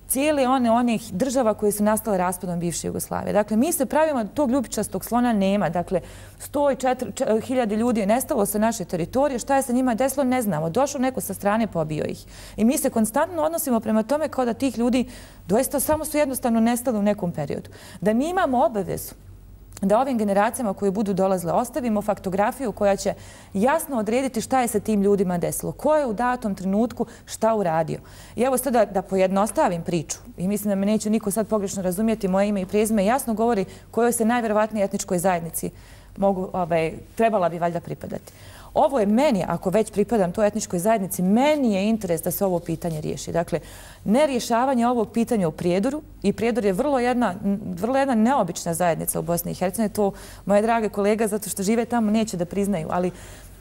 Speaker 3: cijele one onih država koje su nastale raspadom bivše Jugoslavije. Dakle, mi se pravimo da tog ljubičastog slona nema. Dakle, sto četiri hiljade ljudi je nestalo sa naše teritorije. Šta je sa njima desilo, ne znamo. Došao neko sa strane, pobio ih. I mi se konstantno odnosimo prema tome kao da tih ljudi doista samo su jednostavno nestali u nekom periodu. Da mi imamo obavezu da ovim generacijama koje budu dolazile ostavimo faktografiju koja će jasno odrediti šta je sa tim ljudima desilo, ko je u datom trenutku šta uradio. I evo sad da, da pojednostavim priču i mislim da me neće niko sad pogrešno razumjeti, moje ime i prezime jasno govori kojoj se najverovatnije etničkoj zajednici mogu, ovaj, trebala bi valjda pripadati. Ovo je meni, ako već pripadam toj etničkoj zajednici, meni je interes da se ovo pitanje riješi. Dakle, nerješavanje ovog pitanja u Prijedoru, i Prijedor je vrlo jedna, vrlo jedna neobična zajednica u Bosni i Hercegovini, to moje drage kolega, zato što žive tamo, neće da priznaju, ali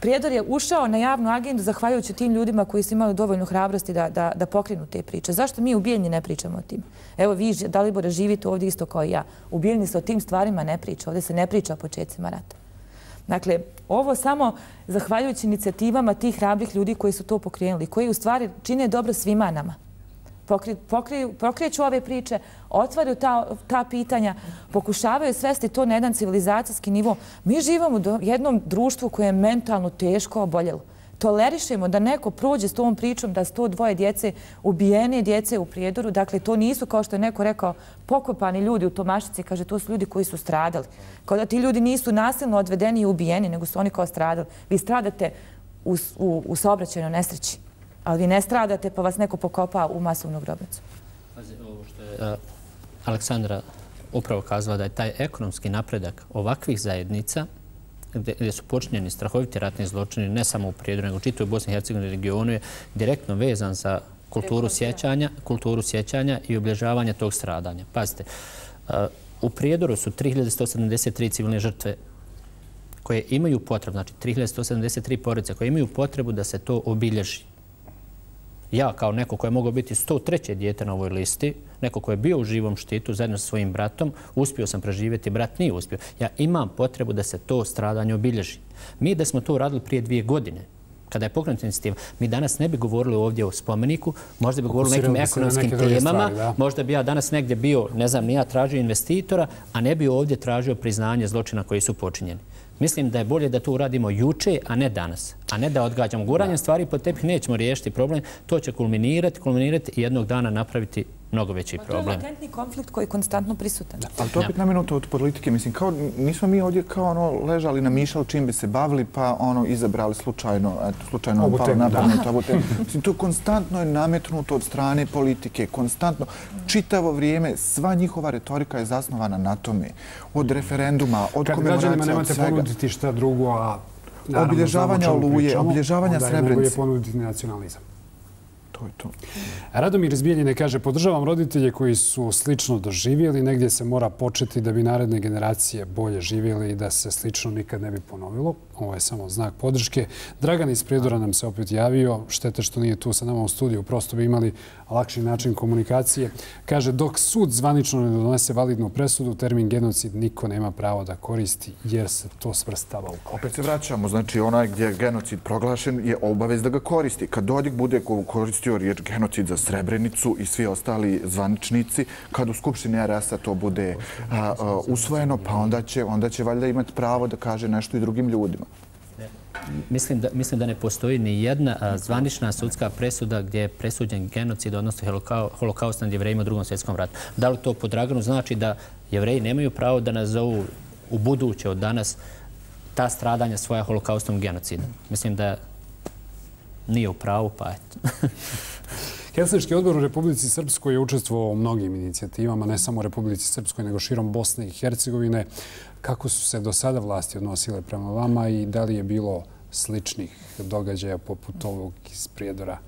Speaker 3: Prijedor je ušao na javnu agendu zahvaljujući tim ljudima koji su imali dovoljnu hrabrosti da, da, da pokrenu te priče. Zašto mi u Bijeljni ne pričamo o tim? Evo vi, Dalibore, živite ovdje isto kao i ja. U Bijeljni se o tim stvarima ne priča. Ovdje se ne priča o početcima rata. Dakle, ovo samo zahvaljujući inicijativama tih hrabrih ljudi koji su to pokrenuli, koji u stvari čine dobro svima nama. Pokri, pokri, pokreću ove priče, otvaraju ta, ta pitanja, pokušavaju svesti to na jedan civilizacijski nivo. Mi živimo u jednom društvu koje je mentalno teško oboljelo. Tolerišemo da neko prođe s tom pričom da sto dva djece, ubijene djece u Prijedoru. Dakle, to nisu, kao što je neko rekao, pokopani ljudi u Tomašici. Kaže, to su ljudi koji su stradali. Kao da ti ljudi nisu nasilno odvedeni i ubijeni, nego su oni kao stradali. Vi stradate u, u, u saobraćajnoj nesreći, ali vi ne stradate pa vas neko pokopa u masovnu grobnicu.
Speaker 4: Pazi, ovo što je uh, Aleksandra upravo kazala, da je taj ekonomski napredak ovakvih zajednica gdje su počinjeni strahoviti ratni zločini, ne samo u Prijedoru, nego čitavoj Bosni i Hercegovini regionu, je direktno vezan za kulturu sjećanja, kulturu sjećanja i obilježavanja tog stradanja. Pazite, u Prijedoru su tri hiljade sto sedamdeset tri civilne žrtve koje imaju potrebu, znači tri hiljade sto sedamdeset tri porodice koje imaju potrebu da se to obilježi. Ja, kao neko koje je mogao biti sto treće dijete na ovoj listi, neko koje je bio u živom štitu zajedno sa svojim bratom, uspio sam preživjeti, brat nije uspio. Ja imam potrebu da se to stradanje obilježi. Mi da smo to uradili prije dvije godine, kada je pokrenuta inicijativa, mi danas ne bi govorili ovdje o spomeniku, možda bi govorili o nekim ekonomskim temama, stvari, možda bi ja danas negdje bio, ne znam, ja tražio investitora, a ne bi ovdje tražio priznanje zločina koji su počinjeni. Mislim da je bolje da to uradimo juče, a ne danas. a ne da odgađamo. Guranjem stvari pod tepih nećemo riješiti problem. To će kulminirati, kulminirati i jednog dana napraviti mnogo veći problem.
Speaker 3: To je latentni konflikt koji je konstantno prisutan.
Speaker 5: Ali to opet naminuto od politike. Mislim, kao, nismo mi ovdje kao ono ležali, namišljali čim bi se bavili, pa ono izabrali slučajno, eto, slučajno
Speaker 1: ovu temu,
Speaker 5: napraviti ovu temu. Mislim, to konstantno je nametnuto od strane politike, konstantno, čitavo vrijeme, sva njihova retorika je zasnovana na tome. Od referenduma, od
Speaker 1: kad
Speaker 5: komemoracija, od
Speaker 1: građanima
Speaker 5: svega.
Speaker 1: nemate ponuditi šta drugo, a naravno,
Speaker 5: obilježavanja Oluje, obilježavanja
Speaker 1: Srebrenice. Onda je najbolje
Speaker 5: Srebrenice.
Speaker 1: ponuditi nacionalizam.
Speaker 5: To je to.
Speaker 1: Radomir iz Bijeljine kaže, podržavam roditelje koji su slično doživjeli. Negdje se mora početi da bi naredne generacije bolje živjeli i da se slično nikad ne bi ponovilo. Ovo je samo znak podrške. Dragan iz Prijedora nam se opet javio. Štete što nije tu sa nama u studiju. Prosto bi imali lakši način komunikacije. Kaže, dok sud zvanično ne donese validnu presudu, termin genocid niko nema pravo da koristi jer se to svrstava u korist.
Speaker 5: Opet se vraćamo. Znači, onaj gdje je genocid proglašen je obavez da ga koristi. Kad Dodik bude koristio riječ genocid za Srebrenicu i svi ostali zvaničnici, kad u Skupštini R S-a to bude a, a, usvojeno, pa onda će, onda će valjda imati pravo da kaže nešto i drugim ljudima.
Speaker 4: Mislim da, mislim da ne postoji ni jedna a, zvanična sudska presuda gdje je presuđen genocid, odnosno holokau, holokaust nad Jevrejima u Drugom svjetskom ratu. Da li to po Draganu znači da Jevreji nemaju pravo da nazovu u buduće od danas ta stradanja svoja holokaustom genocidom? Mislim da nije u pravu, pa eto.
Speaker 1: Helsinški odbor u Republici Srpskoj je učestvovao u mnogim inicijativama, ne samo u Republici Srpskoj, nego širom Bosne i Hercegovine. Kako su se do sada vlasti odnosile prema vama i da li je bilo sličnih događaja poput ovog iz Prijedora?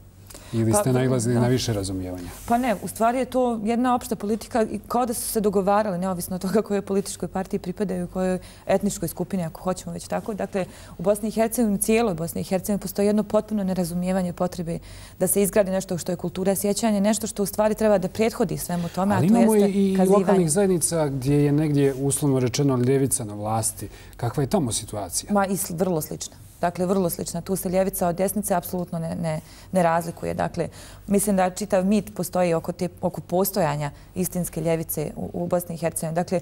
Speaker 1: Ili ste nailazili na više razumijevanja?
Speaker 3: Pa ne, u stvari je to jedna opšta politika i kao da su se dogovarali, neovisno od toga kojoj političkoj partiji pripadaju i kojoj etničkoj skupini, ako hoćemo već tako. Dakle, u Bosni i Hercegovini, cijeloj Bosni i Hercegovini postoji jedno potpuno nerazumijevanje potrebe da se izgradi nešto što je kultura sjećanja, nešto što u stvari treba da prethodi svemu tome, a to jeste kazivanje.
Speaker 1: Ali imamo i lokalnih zajednica gdje je negdje uslovno rečeno ljevica na vlasti. Kakva je tamo situacija?
Speaker 3: Ma i vrlo slična. Dakle, vrlo slična. Tu se ljevica od desnice apsolutno ne, ne, ne razlikuje. Dakle, mislim da čitav mit postoji oko, te, oko postojanja istinske ljevice u, u Bosni i Hercegovini. Dakle,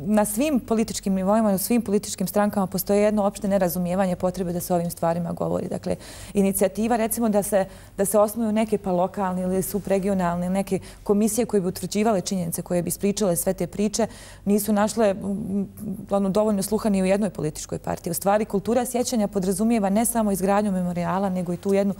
Speaker 3: na svim političkim nivoima, u svim političkim strankama postoje jedno opšte nerazumijevanje potrebe da se o ovim stvarima govori. Dakle, inicijativa recimo da se, da se osnuju neke pa lokalne ili subregionalne neke komisije koje bi utvrđivale činjenice, koje bi ispričale sve te priče, nisu našle ono, dovoljno sluha ni u jednoj političkoj partiji. U stvari, kultura sjećanja podrazumijeva ne samo izgradnju memorijala, nego i tu jednu,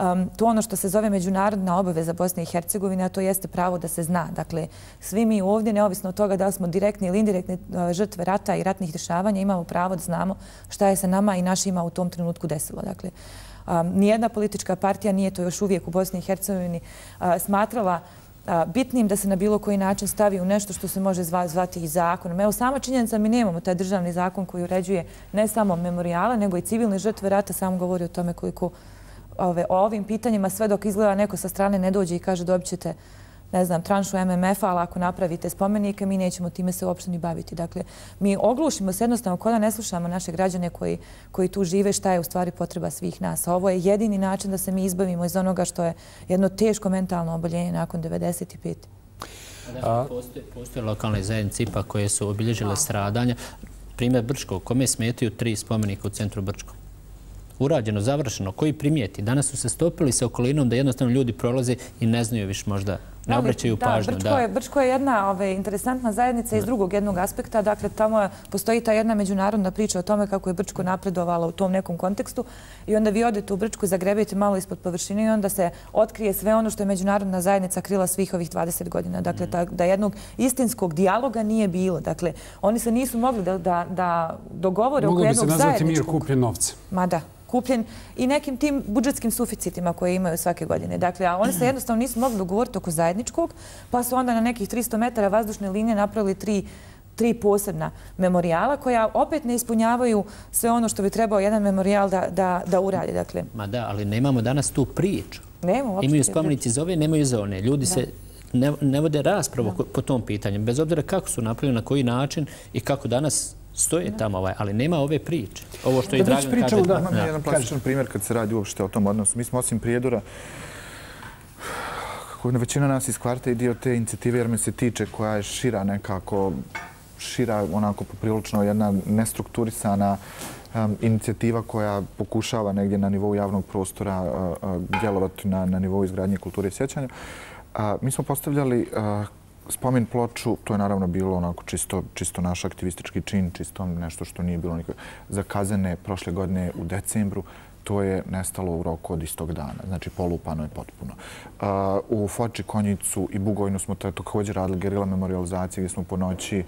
Speaker 3: um, tu ono što se zove međunarodna obaveza Bosne i Hercegovine, a to jeste pravo da se zna. Dakle, svi mi ovdje, neovisno od toga da li smo direktni ili indirektne žrtve rata i ratnih dešavanja, imamo pravo da znamo šta je se nama i našima u tom trenutku desilo. Dakle, um, nijedna politička partija nije to još uvijek u Bosni i Hercegovini uh, smatrala uh, bitnim da se na bilo koji način stavi u nešto što se može zva, zvati i zakonom. Evo, sama činjenica mi nemamo taj državni zakon koji uređuje ne samo memorijale, nego i civilne žrtve rata, samo govori o tome koliko ove, o ovim pitanjima sve dok izgleda neko sa strane ne dođe i kaže dobit ćete ne znam, tranšu M M F-a, ali ako napravite spomenike, mi nećemo time se uopšte ni baviti. Dakle, mi oglušimo se jednostavno kod da ne slušamo naše građane koji, koji tu žive šta je u stvari potreba svih nas. A ovo je jedini način da se mi izbavimo iz onoga što je jedno teško mentalno oboljenje nakon devedeset pete.
Speaker 4: Da, postoje, postoje lokalne zajednice ipak koje su obilježile stradanja. Primjer Brčko, kome smetaju tri spomenika u centru Brčko. Urađeno, završeno, koji primijeti. Danas su se stopili sa okolinom da jednostavno ljudi prolaze i ne znaju više možda, ne obraćaju pažnju.
Speaker 3: Da, je, Brčko je jedna ove, interesantna zajednica iz drugog jednog aspekta. Dakle, tamo je, postoji ta jedna međunarodna priča o tome kako je Brčko napredovala u tom nekom kontekstu i onda vi odete u Brčku, zagrebete malo ispod površine i onda se otkrije sve ono što je međunarodna zajednica krila svih ovih dvadeset godina. Dakle, ta, da jednog istinskog dijaloga nije bilo. Dakle, oni se nisu mogli da, da, da dogovore oko jednog zajedničkog.
Speaker 1: Moglo bi se nazvati mir kupljen novce.
Speaker 3: Ma da. Kupljen i nekim tim budžetskim suficitima koje imaju svake godine. Dakle, a oni se jednostavno nisu mogli dogovoriti oko zajedničkog, pa su onda na nekih tristo metara vazdušne linije napravili tri, tri posebna memorijala koja opet ne ispunjavaju sve ono što bi trebao jedan memorijal da, da, da uradi. Dakle,
Speaker 4: ma da, ali nemamo danas tu priču.
Speaker 3: Nemo,
Speaker 4: imaju spomenici za ove, nemaju za one. Ljudi da. se ne, ne vode raspravu da. po tom pitanju, bez obzira kako su napravili, na koji način i kako danas stoje tamo, ovaj, ali nema ove priče. Ovo što i Dragan kaže.
Speaker 5: Da, imam jedan plastičan primjer kad se radi uopšte o tom odnosu. Mi smo osim Prijedora, većina nas iz kvarta i dio te inicijative, jer me se tiče, koja je šira nekako, šira onako poprilično jedna nestrukturisana inicijativa koja pokušava negdje na nivou javnog prostora djelovati na nivou izgradnje kulture i sjećanja. Mi smo postavljali spomen ploču, to je naravno bilo onako čisto, čisto naš aktivistički čin, čisto nešto što nije bilo nikako zakazane prošle godine u decembru. To je nestalo u roku od istog dana. Znači, polupano je potpuno. U Foči, Konjicu i Bugojnu smo također radili gerila memorializacije gdje smo po noći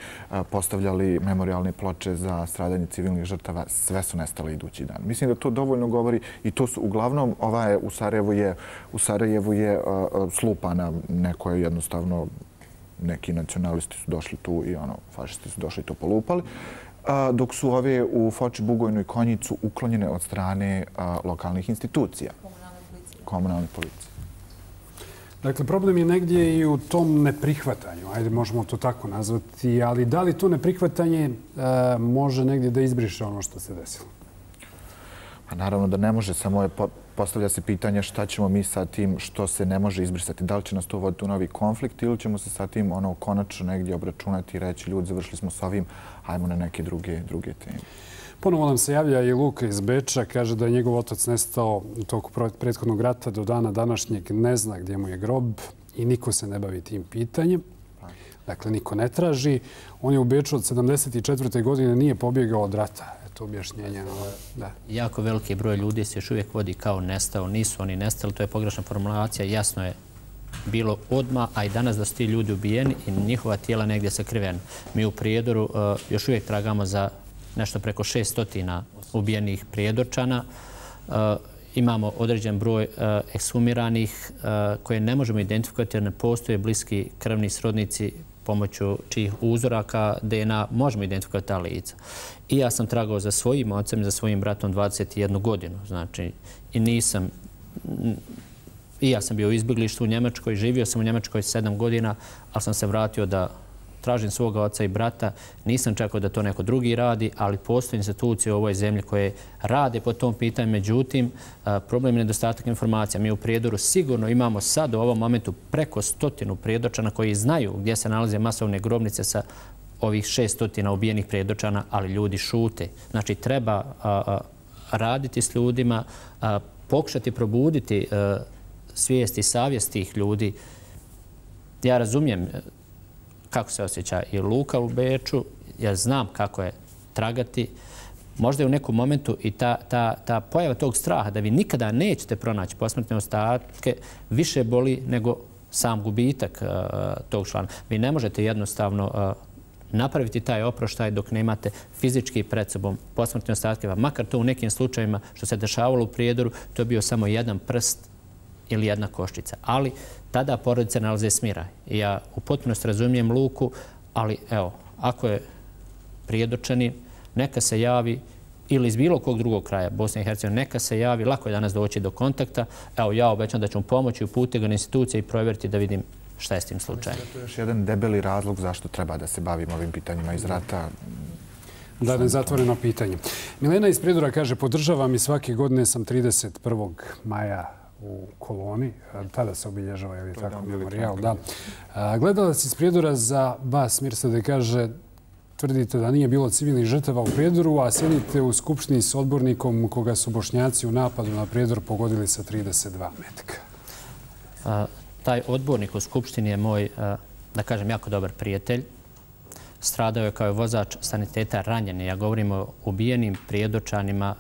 Speaker 5: postavljali memorialne ploče za stradanje civilnih žrtava. Sve su nestale idući dan. Mislim da to dovoljno govori i to su uglavnom, ova je u Sarajevu je, u Sarajevu je slupana. Neko je jednostavno, neki nacionalisti su došli tu i ono, fašisti su došli i to polupali. Dok su ove u Foči, Bugojnu i Konjicu uklonjene od strane lokalnih institucija. Komunalne policije.
Speaker 1: Dakle, problem je negdje i u tom neprihvatanju. Ajde, možemo to tako nazvati. Ali da li to neprihvatanje može negdje da izbriše ono što se desilo?
Speaker 5: Pa naravno da ne može. Samo je postavlja se pitanje šta ćemo mi sa tim što se ne može izbrisati. Da li će nas to voditi u novi konflikt ili ćemo se sa tim ono konačno negdje obračunati i reći ljudi, završili smo s ovim, hajmo na neke druge, druge teme.
Speaker 1: Ponovo nam se javlja i Luka iz Beča. Kaže da je njegov otac nestao u toku prethodnog rata. Do dana današnjeg ne zna gdje mu je grob i niko se ne bavi tim pitanjem. Dakle, niko ne traži. On je u Beču od sedamdeset četvrte godine nije pobjegao od rata. To objašnjenje. Da.
Speaker 4: Jako veliki broj ljudi se još uvijek vodi kao nestao. Nisu oni nestali, to je pogrešna formulacija. Jasno je bilo odmah, a i danas da su ti ljudi ubijeni i njihova tijela negdje sakrivena. Mi u Prijedoru uh, još uvijek tragamo za nešto preko šesto ubijenih Prijedorčana. Uh, imamo određen broj uh, ekshumiranih uh, koje ne možemo identifikovati jer ne postoje bliski krvni srodnici pomoću čijih uzoraka D N A možemo identifikovati ta lica. I ja sam tragao za svojim ocem i za svojim bratom dvadeset jednu godinu. Znači, i nisam... I ja sam bio u izbjeglištu u Njemačkoj, živio sam u Njemačkoj sedam godina, ali sam se vratio da tražim svoga oca i brata. Nisam čekao da to neko drugi radi, ali postoje institucije u ovoj zemlji koje rade po tom pitanju. Međutim, problem je nedostatak informacija. Mi u Prijedoru sigurno imamo sad u ovom momentu preko stotinu Prijedorčana koji znaju gdje se nalaze masovne grobnice sa ovih šestotina ubijenih Prijedorčana, ali ljudi šute. Znači, treba a, a, raditi s ljudima, a, pokušati probuditi a, svijest i savjest tih ljudi. Ja razumijem kako se osjeća i Luka u Beču. Ja znam kako je tragati. Možda je u nekom momentu i ta, ta, ta pojava tog straha da vi nikada nećete pronaći posmrtne ostatke više boli nego sam gubitak uh, tog člana. Vi ne možete jednostavno uh, napraviti taj oproštaj dok nemate fizički pred sobom posmrtne ostatke. Makar to u nekim slučajima što se dešavalo u Prijedoru, to je bio samo jedan prst ili jedna koščica. Ali tada porodice nalaze smiraj. I ja u potpunosti razumijem Luku, ali evo, ako je Prijedorčanin, neka se javi ili iz bilo kog drugog kraja Bosne i Hercegovine, neka se javi, lako je danas doći do kontakta. Evo, ja obećam da ću mu pomoći, uputiti ga na institucije i provjeriti da vidim šta je s tim slučajem.
Speaker 5: To je još jedan debeli razlog zašto treba da se bavimo ovim pitanjima iz rata.
Speaker 1: Da, nezatvoreno pitanje. Milena iz Prijedora kaže, podržavam i svake godine sam trideset prvog maja u koloni. Tada se obilježava, je li tako, memorijal. Da. Gledalac iz Prijedora za vas, Mirsade, kaže, tvrdite da nije bilo civilnih žrtava u Prijedoru, a sjedite u skupštini s odbornikom koga su Bošnjaci u napadu na Prijedor pogodili sa trideset dva metka.
Speaker 4: A, taj odbornik u skupštini je moj, a, da kažem, jako dobar prijatelj. Stradao je kao vozač saniteta ranjen. Ja govorim o ubijenim Prijedorčanima.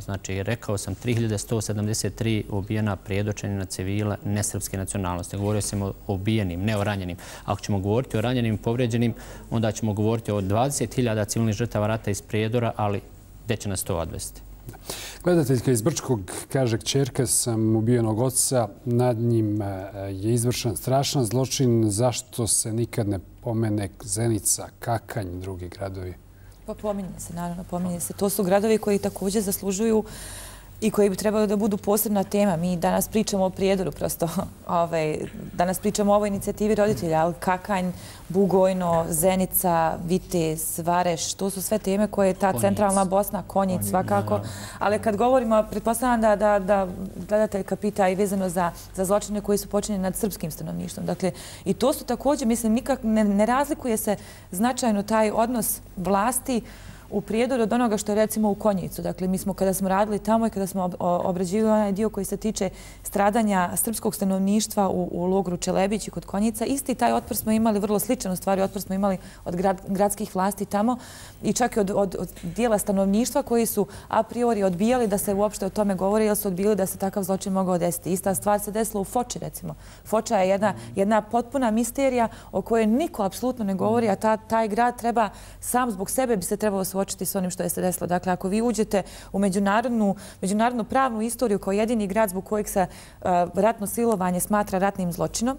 Speaker 4: Znači, rekao sam tri hiljade sto sedamdeset tri ubijena Prijedorčanina civila nesrpske nacionalnosti. Govorio sam o ubijenim, ne o ranjenim. Ako ćemo govoriti o ranjenim i povrijeđenim, onda ćemo govoriti o dvadeset hiljada civilnih žrtava rata iz Prijedora, ali gdje će nas to odvesti?
Speaker 1: Gledateljka iz Brčkog kaže, kćerka sam ubijenog oca, nad njim je izvršen strašan zločin, zašto se nikad ne pomene Zenica, Kakanj, drugi gradovi?
Speaker 3: Pa pominje se, naravno, pominje se. To su gradovi koji također zaslužuju i koji bi trebali da budu posebna tema. Mi danas pričamo o Prijedoru, prosto. Ove, danas pričamo o ovoj inicijativi roditelja, ali Kakanj, Bugojno, Zenica, Vitez, Vareš, to su sve teme koje je ta Konjic. Centralna Bosna, Konjic, Konjic svakako. Ali kad govorimo, pretpostavljam da, da, da gledateljka pita i vezano za, za zločine koji su počinjeni nad srpskim stanovništvom. Dakle, i to su također, mislim, nikak ne, ne razlikuje se značajno taj odnos vlasti u Prijedoru od onoga što je recimo u Konjicu. Dakle, mi smo kada smo radili tamo i kada smo obrađivali onaj dio koji se tiče stradanja srpskog stanovništva u, u logoru Čelebić i kod Konjica, isti taj otpor smo imali, vrlo sličan u stvari otpor smo imali od grad, gradskih vlasti tamo i čak i od, od, od dijela stanovništva koji su a priori odbijali da se uopšte o tome govori jer su odbijali da se takav zločin mogao desiti. Ista stvar se desila u Foči recimo. Foča je jedna, jedna potpuna misterija o kojoj niko apsolutno ne govori, a ta, taj grad treba sam zbog sebe bi se trebalo suočiti s onim što je se desilo. Dakle, ako vi uđete u međunarodnu, međunarodnu pravnu istoriju kao jedini grad zbog kojeg se uh, ratno silovanje smatra ratnim zločinom,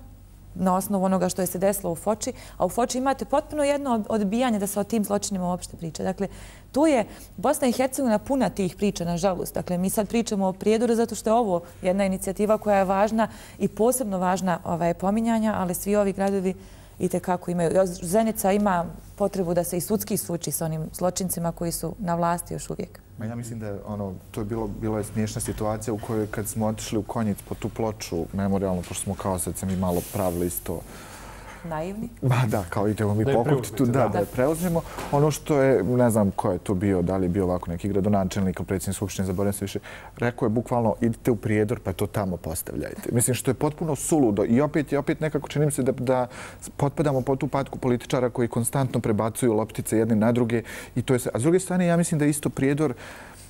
Speaker 3: na osnovu onoga što je se desilo u Foči, a u Foči imate potpuno jedno odbijanje da se o tim zločinima uopšte priča. Dakle, tu je Bosna i Hercegovina puna tih priča, nažalost. Dakle, mi sad pričamo o Prijedoru zato što je ovo jedna inicijativa koja je važna i posebno važna ovaj, pominjanja, ali svi ovi gradovi i tekako imaju. Zenica ima potrebu da se i sudski suči s onim zločincima koji su na vlasti još uvijek.
Speaker 5: Ma ja mislim da je ono, to je bilo, bilo je smiješna situacija u kojoj kad smo otišli u Konjic po tu ploču memorialno, pošto smo kao sad se mi malo pravili isto
Speaker 3: naivni?
Speaker 5: Ba da, kao idemo mi pokupiti tu, da, da je preuzmemo. Ono što je, ne znam ko je to bio, da li je bio ovako neki gradonačelnik ili predsjednik Skupštine, zaboravim se više, rekao je bukvalno idite u Prijedor pa to tamo postavljajte. Mislim što je potpuno suludo i opet i opet nekako čini mi se da, da potpadamo po tu patku političara koji konstantno prebacuju loptice jedne na druge i to je sve. A s druge strane ja mislim da isto Prijedor,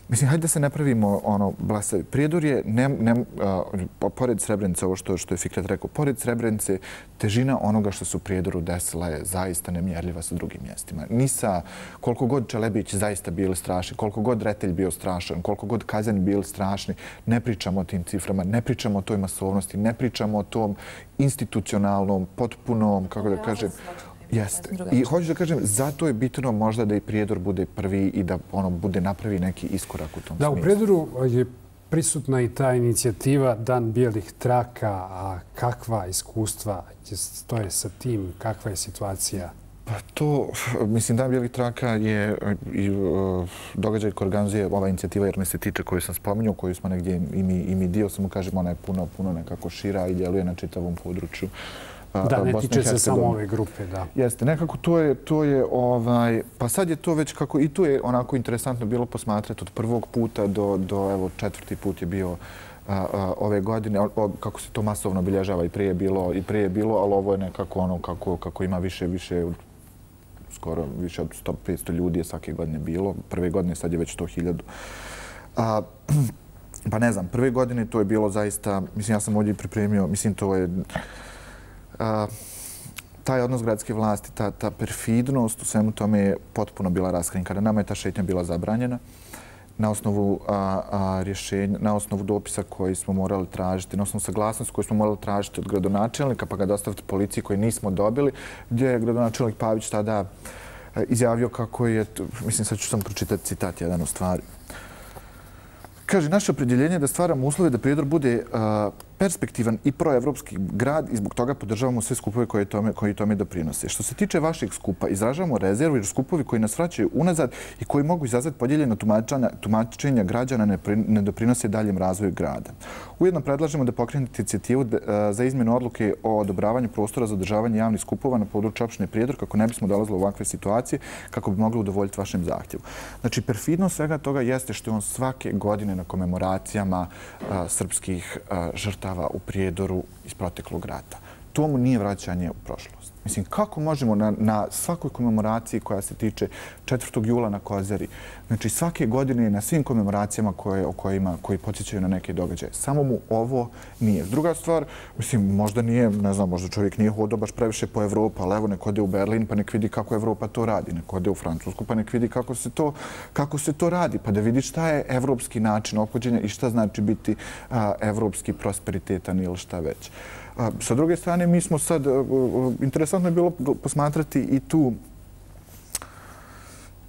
Speaker 5: mislim, hajde da se ne pravimo ono, blasavi. Prijedor je, ne, ne, a, pored Srebrenice, ovo što, što je Fikret rekao, pored Srebrenice, težina onoga što su u Prijedoru desila je zaista nemjerljiva sa drugim mjestima. Ni sa koliko god Čelebić zaista bili strašni, koliko god Retelj bio strašan, koliko god Kazanj bili strašni, ne pričamo o tim ciframa, ne pričamo o toj masovnosti, ne pričamo o tom institucionalnom, potpunom, kako da kažem, jeste. I hoću da kažem, zato je bitno možda da i Prijedor bude prvi i da ono bude napravi neki iskorak u tom
Speaker 1: da,
Speaker 5: smislu.
Speaker 1: U Prijedoru je prisutna i ta inicijativa Dan bijelih traka, a kakva iskustva stoje sa tim, kakva je situacija?
Speaker 5: Pa to, mislim, Dan bijelih traka je i uh, događaj koji organizuje ova inicijativa, jer mi se tiče koju sam spominjao, koju smo negdje i mi, i mi dio, samo kažem, ona je puno, puno nekako šira i djeluje na čitavom području.
Speaker 1: Da, ne tiče se samo ove grupe, da.
Speaker 5: Jeste, nekako to je, to je ovaj, pa sad je to već kako, i tu je onako interesantno bilo posmatrati od prvog puta do, do evo, četvrti put je bio a, a, ove godine, o, kako se to masovno obilježava i prije je bilo, i prije je bilo, ali ovo je nekako ono kako, kako ima više, više, skoro više od sto do petsto ljudi je svake godine bilo. Prve godine sad je već sto hiljada. A, pa ne znam, prve godine to je bilo zaista, mislim, ja sam ovdje pripremio, mislim, to je Uh, taj odnos gradske vlasti, ta, ta perfidnost u svemu tome je potpuno bila raskrinkana. Nama je ta šetnja bila zabranjena na osnovu a, a, rješenja, na osnovu dopisa koji smo morali tražiti, na osnovu saglasnosti koju smo morali tražiti od gradonačelnika pa ga dostaviti policiji koji nismo dobili, gdje je gradonačelnik Pavić tada izjavio kako je, mislim sad ću sam pročitati citat jedan u stvari. Kaže, naše opredjeljenje je da stvaramo uslove da Prijedor bude uh, perspektivan i proevropski grad i zbog toga podržavamo sve skupove koje tome, koji tome doprinose. Što se tiče vašeg skupa, izražavamo rezervu jer skupovi koji nas vraćaju unazad i koji mogu izazvati podijeljeno tumačenja građana ne, ne doprinose daljem razvoju grada. Ujedno predlažemo da pokrenete inicijativu uh, za izmjenu odluke o odobravanju prostora za održavanje javnih skupova na području opštine Prijedor kako ne bismo dolazili u ovakve situacije kako bi mogli udovoljiti vašem zahtjevu. Znači, perfidnost svega toga jeste što on svake godine na komemoracijama a, srpskih a, žrtava u Prijedoru iz proteklog rata. To mu nije vraćanje u prošlost. Mislim, kako možemo na, na svakoj komemoraciji koja se tiče četvrtog jula na Kozari, znači svake godine na svim komemoracijama koje, o kojima, koji podsjećaju na neke događaje. Samo mu ovo nije. Druga stvar, mislim, možda nije, ne znam, možda čovjek nije hodao baš previše po Evropi, ali evo nek ode u Berlin pa nek vidi kako Evropa to radi, nek ode u Francusku pa nek vidi kako se to, kako se to radi, pa da vidi šta je evropski način ophođenja i šta znači biti a, evropski prosperitetan ili šta već. A, sa druge strane, mi smo sad, interesantno je bilo posmatrati i tu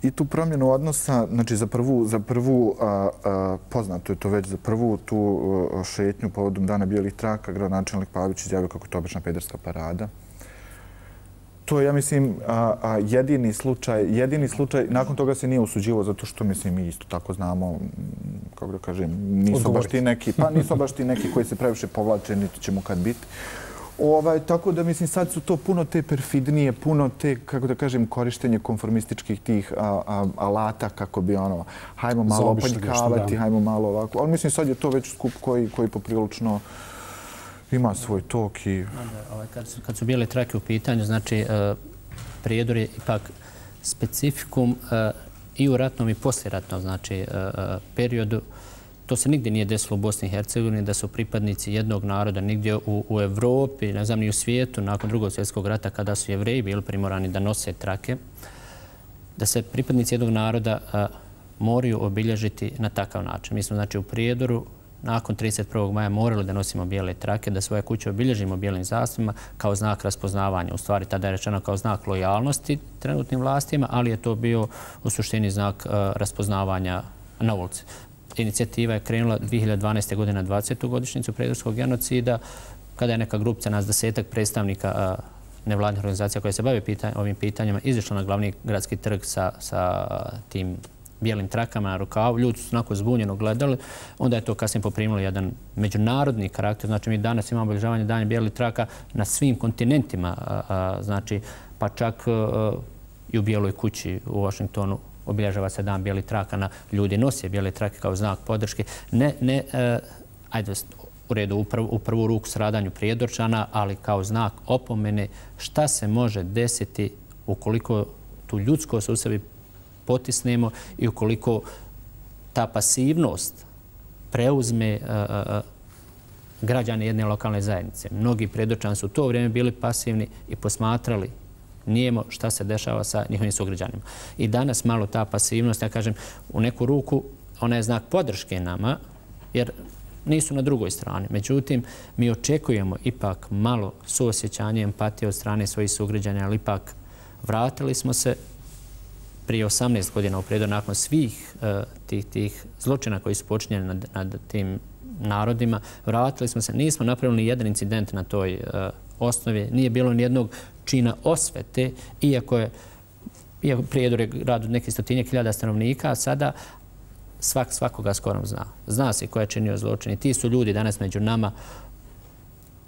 Speaker 5: i tu promjenu odnosa, znači za prvu, za prvu a, a, poznato je to već, za prvu tu a, šetnju povodom Dana bijelih traka, gradonačelnik Pavić izjavio kako je to obična pederska parada. To je, ja mislim, a, a, jedini slučaj, jedini slučaj, nakon toga se nije usuđivo zato što, mislim, mi isto tako znamo, kako da kažem, nisu baš ti neki, pa nisu baš ti neki koji se previše povlače, niti ćemo kad biti. Ovaj, tako da, mislim, sad su to puno te perfidnije, puno te, kako da kažem, korištenje konformističkih tih a, a, alata kako bi ono, hajmo malo opanjkavati, hajmo malo ovako. Ali mislim, sad je to već skup koji, koji poprilično ima svoj tok i...
Speaker 4: Ovaj, kad, su, kad su bijele trake u pitanju, znači, uh, Prijedor je ipak specifikum uh, i u ratnom i posljeratnom, znači, uh, periodu. To se nigdje nije desilo u Bosni i Hercegovini, da su pripadnici jednog naroda nigdje u, u Evropi, ne znam, ni u svijetu, nakon drugog svjetskog rata, kada su Jevreji bili primorani da nose trake, da se pripadnici jednog naroda a, moraju obilježiti na takav način. Mi smo, znači, u Prijedoru nakon trideset prvog maja morali da nosimo bijele trake, da svoje kuće obilježimo bijelim zastavima kao znak raspoznavanja. U stvari, tada je rečeno kao znak lojalnosti trenutnim vlastima, ali je to bio u suštini znak a, raspoznavanja na ulici. Inicijativa je krenula dvije hiljade dvanaeste. godine na dvadesetu godišnjicu prijedorskog genocida, kada je neka grupca, nas desetak predstavnika nevladnih organizacija koje se bave pitanj, ovim pitanjima, izišla na glavni gradski trg sa, sa tim bijelim trakama na rukavu. Ljudi su onako zbunjeno gledali. Onda je to kasnije poprimilo jedan međunarodni karakter. Znači, mi danas imamo obilježavanje dana bijelih traka na svim kontinentima. A, a, znači, pa čak a, i u Bijeloj kući u Washingtonu obilježava se dan bijelih traka, na ljudi nose bijele trake kao znak podrške. Ne, ne, e, ajde, u redu, u, prv, u prvu ruku stradanju Prijedorčana, ali kao znak opomene šta se može desiti ukoliko tu ljudskost u sebi potisnemo i ukoliko ta pasivnost preuzme a, a, građane jedne lokalne zajednice. Mnogi Prijedorčani su u to vrijeme bili pasivni i posmatrali nijemo šta se dešava sa njihovim sugrađanima. I danas malo ta pasivnost, ja kažem, u neku ruku ona je znak podrške nama, jer nisu na drugoj strani. Međutim, mi očekujemo ipak malo suosjećanje, empatije od strane svojih sugrađana, ali ipak vratili smo se prije osamnaest godina u Prijedor nakon svih uh, tih, tih zločina koji su počinjeni nad, nad tim narodima. Vratili smo se, nismo napravili ni jedan incident na toj uh, osnovi, nije bilo ni jednog čina osvete, iako je iako Prijedor je grad od nekih stotinjak hiljada stanovnika, a sada svak svakoga skoro zna. Zna se ko je činio zločin i ti su ljudi danas među nama.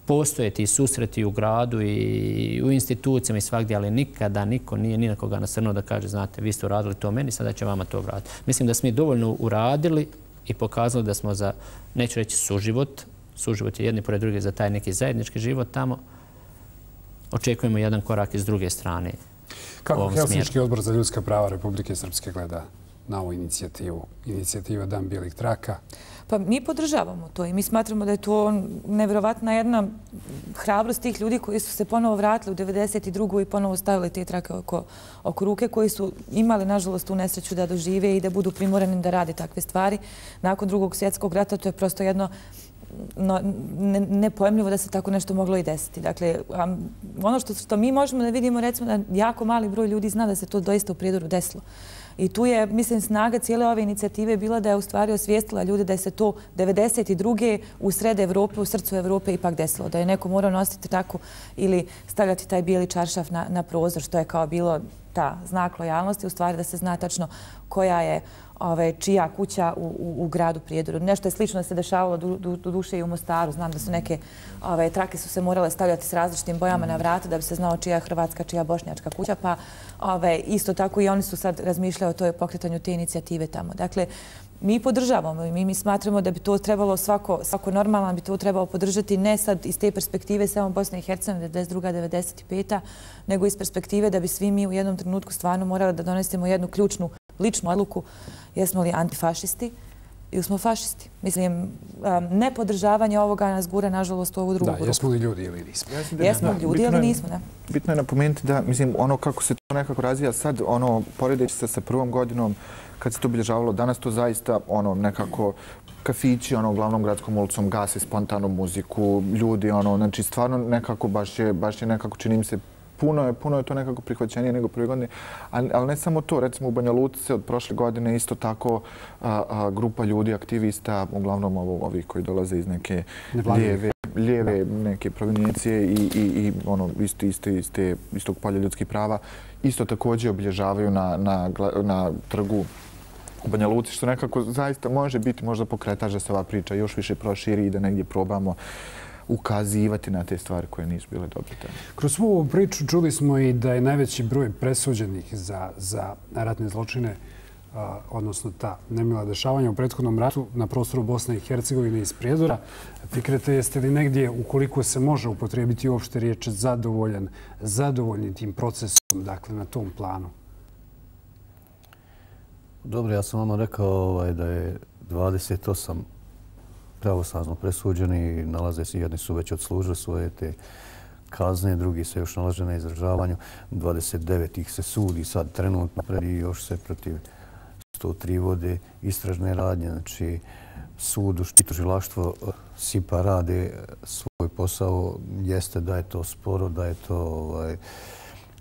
Speaker 4: Postoje ti susreti u gradu i u institucijama i svakdje, ali nikada niko nije ni na koga nasrnuo da kaže, znate, vi ste uradili to meni, sada će vama to vratiti. Mislim da smo mi dovoljno uradili i pokazali da smo za, neću reći suživot, suživot je jedni pored druge za taj neki zajednički život tamo, očekujemo jedan korak iz druge strane.
Speaker 1: Kako Helsinški odbor za ljudska prava Republike Srpske gleda na ovu inicijativu, inicijativa Dan bijelih traka?
Speaker 3: Pa mi podržavamo to i mi smatramo da je to nevjerovatna jedna hrabrost tih ljudi koji su se ponovo vratili u devedeset drugu i ponovo stavili te trake oko, oko ruke, koji su imali, nažalost, tu nesreću da dožive i da budu primorani da rade takve stvari. Nakon drugog svjetskog rata to je prosto jedno no, ne, nepojemljivo da se tako nešto moglo i desiti. Dakle, a, ono što, što mi možemo da vidimo, recimo da jako mali broj ljudi zna da se to doista u Prijedoru desilo. I tu je, mislim, snaga cijele ove inicijative bila da je u stvari osvijestila ljude da je se to devedeset druge u sred Evrope, u srcu Evrope ipak desilo. Da je neko morao nositi tako ili stavljati taj bijeli čaršaf na, na prozor, što je kao bilo ta znak lojalnosti, u stvari da se zna tačno koja je ove, čija kuća u, u, u gradu Prijedoru. Nešto je slično da se dešavalo do, do, do duše i u Mostaru. Znam da su neke ove, trake su se morale stavljati s različitim bojama na vrata da bi se znao čija je hrvatska, čija bošnjačka kuća. Pa ove, isto tako i oni su sad razmišljali o toj pokretanju te inicijative tamo. Dakle, mi podržavamo i mi, mi smatramo da bi to trebalo svako, svako normalno bi to trebalo podržati ne sad iz te perspektive samo Bosne i Hercegovine devedeset druga devedeset peta nego iz perspektive da bi svi mi u jednom trenutku stvarno morali da donesemo jednu ključnu ličnu odluku. Jesmo li antifašisti ili smo fašisti? Mislim, nepodržavanje ovoga nas gura, nažalost, u ovu drugu grupu.
Speaker 1: Da, jesmo li ljudi ili nismo?
Speaker 3: Jesmo li ljudi ili nismo, ne?
Speaker 5: Bitno je napomenuti da, mislim, ono kako se to nekako razvija sad, ono, poredeći se sa prvom godinom, kad se to obilježavalo, danas to zaista, ono, nekako kafići, ono, glavnom gradskom ulicom gase spontanu muziku, ljudi, ono, znači, stvarno nekako, baš je, baš je nekako, čini mi se, Puno je, puno je to nekako prihvaćenije nego prve godine, ali, ali ne samo to. Recimo u Banja Luci od prošle godine isto tako a, a, grupa ljudi, aktivista, uglavnom ovo, ovi koji dolaze iz neke lijeve, lijeve neke provenijencije i, i, i ono, isto, isto, isto, istog polja ljudskih prava, isto također obilježavaju na, na, na trgu u Banja Luci, što nekako zaista može biti možda pokretač da se ova priča još više proširi i da negdje probamo ukazivati na te stvari koje nisu bile dobre.
Speaker 1: Kroz svu ovu priču čuli smo i da je najveći broj presuđenih za, za ratne zločine, a, odnosno ta nemila dešavanja u prethodnom ratu na prostoru Bosne i Hercegovine iz Prijedora. Fikrete, jeste li negdje, ukoliko se može upotrijebiti uopšte riječ zadovoljan, zadovoljni tim procesom, dakle, na tom planu?
Speaker 2: Dobro, ja sam vama rekao ovaj, da je dvadeset osam pravosnažno presuđeni, nalaze se, jedni su već odslužili svoje te kazne, drugi se još nalaže na izdržavanju, dvadeset devet ih se sudi sad trenutno pred i još se protiv sto tri vode istražne radnje. Znači, sud i tužilaštvo S I P A rade svoj posao, jeste da je to sporo, da je to ovaj,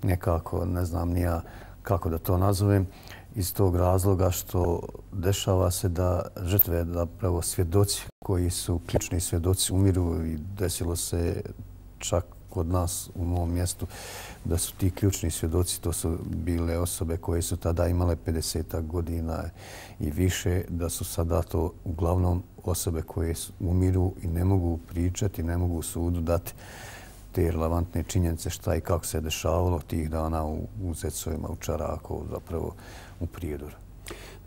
Speaker 2: nekako, ne znam ni ja kako da to nazovem, iz tog razloga što dešava se da žrtve, da pravo svjedoci koji su ključni svjedoci umiru i desilo se čak kod nas u mom mjestu da su ti ključni svjedoci, to su bile osobe koje su tada imale pedeset godina i više, da su sada to uglavnom osobe koje umiru i ne mogu pričati, ne mogu sudu dati te relevantne činjenice šta i kako se dešavalo tih dana u Zecovima, u Čaraku, zapravo u Prijedoru.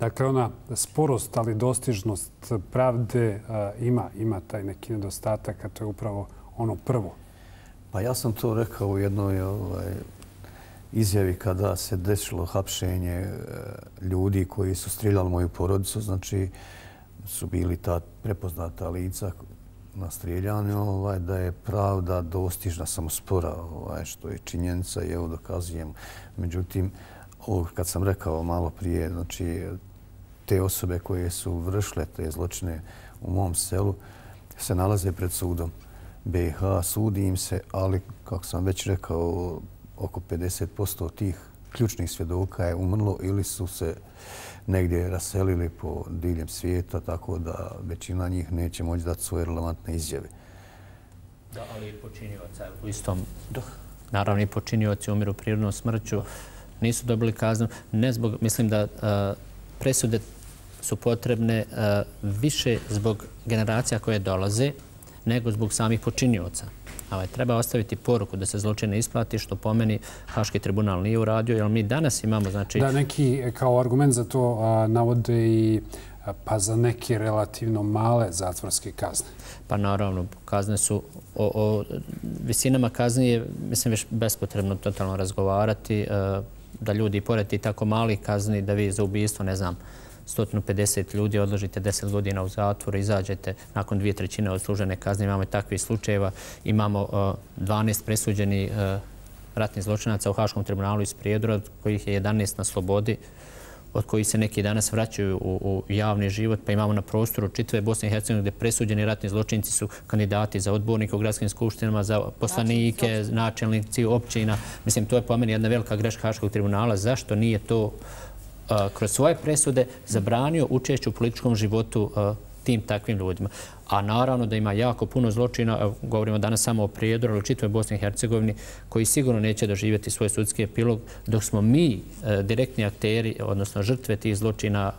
Speaker 1: Dakle, ona sporost, ali dostižnost pravde ima, ima taj neki nedostatak, a to je upravo ono prvo.
Speaker 2: Pa ja sam to rekao u jednoj ovaj, izjavi kada se desilo hapšenje ljudi koji su strijeljali moju porodicu, znači su bili ta prepoznata lica na strijeljanju, ovaj, da je pravda dostižna, samo spora, ovaj, što je činjenica i evo dokazujem. Međutim, ovo kad sam rekao malo prije, znači te osobe koje su vršile te zločine u mom selu se nalaze pred sudom B i H, sudi im se, ali kako sam već rekao, oko pedeset posto tih ključnih svjedoka je umrlo ili su se negdje raselili po diljem svijeta, tako da većina njih neće moći dati svoje relevantne izjave.
Speaker 4: Da, ali i počinioca u istom... Naravno i počinioci umiru prirodnom smrću, nisu dobili kaznu. Ne zbog, mislim da presude su potrebne više zbog generacija koje dolaze, nego zbog samih počinioca. Treba ostaviti poruku da se zločine isplati, što po meni Haški tribunal nije uradio, jer mi danas imamo...
Speaker 1: Da, neki kao argument za to navode i pa za neke relativno male zatvorske kazne.
Speaker 4: Pa naravno, kazne su... O visinama kazni je, mislim, već bespotrebno totalno razgovarati, da ljudi i pored i tako malih kazni, da vi za ubijstvo, ne znam, sto pedeset ljudi odložite deset godina u zatvoru, izađete nakon dvije trećine odslužene kazne. Imamo takvih slučajeva. Imamo dvanaest presuđenih ratnih zločinaca u Haškom tribunalu iz Prijedora, od kojih je jedanaest na slobodi, od kojih se neki danas vraćaju u javni život. Pa imamo na prostoru čitave Bosne i Hercegovine gdje presuđeni ratni zločinci su kandidati za odbornike u gradskim skupštinama, za poslanike, načelnici općina. Mislim, to je po meni jedna velika greška Haškog tribunala. Zašto nije to kroz svoje presude zabranio učešće u političkom životu tim takvim ljudima? A naravno da ima jako puno zločina, govorimo danas samo o Prijedoru, ali u čitavoj Bosni i Hercegovini, koji sigurno neće doživjeti svoj sudski epilog, dok smo mi direktni akteri, odnosno žrtve tih zločina,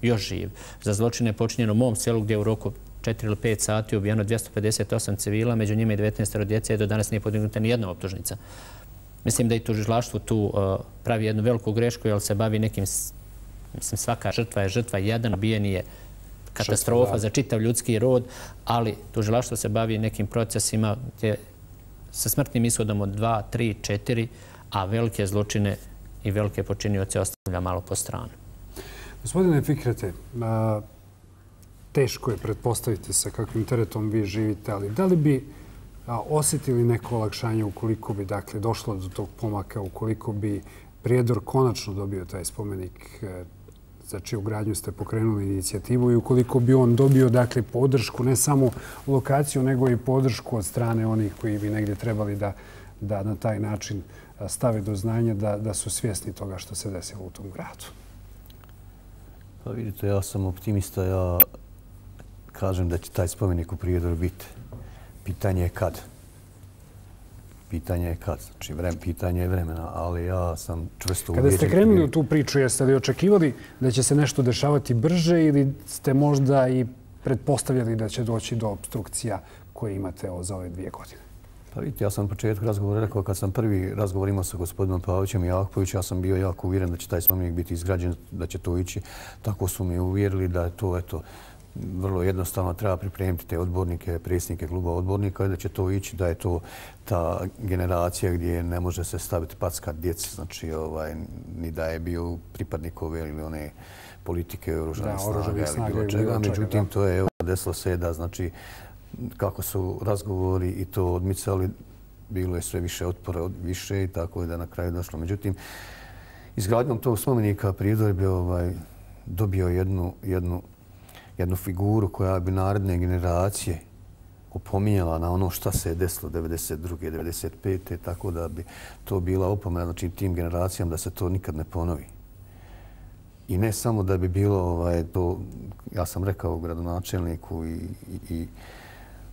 Speaker 4: još živi. Za zločine je počinjeno u mom selu gdje u roku četiri ili pet sati ubijeno dvjesto pedeset osam civila, među njima i devetnaest djece, i do danas nije podignuta ni jedna optužnica. Mislim da i tužilaštvo tu pravi jednu veliku grešku, jer se bavi nekim, mislim, svaka žrtva je žrtva, jedan ubijen je katastrofa za čitav ljudski rod, ali tužilaštvo se bavi nekim procesima gdje sa smrtnim ishodom od dva, tri, četiri, a velike zločine i velike počinioce ostavlja malo po stranu.
Speaker 1: Gospodine Fikrete, teško je pretpostaviti sa kakvim teretom vi živite, ali da li bi osjetili neko olakšanje ukoliko bi dakle došlo do tog pomaka, ukoliko bi Prijedor konačno dobio taj spomenik za čiju gradnju ste pokrenuli inicijativu i ukoliko bi on dobio dakle podršku, ne samo lokaciju, nego i podršku od strane onih koji bi negdje trebali da, da na taj način stave do znanja da, da su svjesni toga što se desilo u tom gradu?
Speaker 2: Pa vidite, ja sam optimista. Ja kažem da će taj spomenik u Prijedoru biti. Pitanje je kad. Pitanje je kad. Znači, vrem, pitanje je vremena, ali ja sam čvrsto ubijeđen.
Speaker 1: Kada ste krenuli u tu priču, jeste li očekivali da će se nešto dešavati brže ili ste možda i pretpostavljali da će doći do obstrukcija koje imate za ove dvije godine?
Speaker 2: Pa vidite, ja sam na početku razgovora rekao, kad sam prvi razgovor imao sa gospodinom Pavićem i Jakovićem, ja sam bio jako uvjeren da će taj spomenik biti izgrađen, da će to ići. Tako su mi uvjerili da je to, eto, vrlo jednostavno treba pripremiti te odbornike, predsjednike kluba odbornika i da će to ići, da je to ta generacija gdje ne može se staviti packat djeci, znači ovaj, ni da je bio pripadnik ove ili one politike oružanih snaga ili bilo čega. Međutim, to je evo, desilo se da, znači, kako su razgovori i to odmicali, bilo je sve više otpora, više i tako je da na kraju došlo. Međutim, izgradnjom tog spomenika Prijedor bi ovaj, dobio jednu, jednu, jednu figuru koja bi naredne generacije opominjala na ono šta se je desilo devedeset druge. devedeset pete tako da bi to bila opomena, znači tim generacijama da se to nikad ne ponovi. I ne samo da bi bilo, ovaj, to, ja sam rekao gradonačelniku i, i, i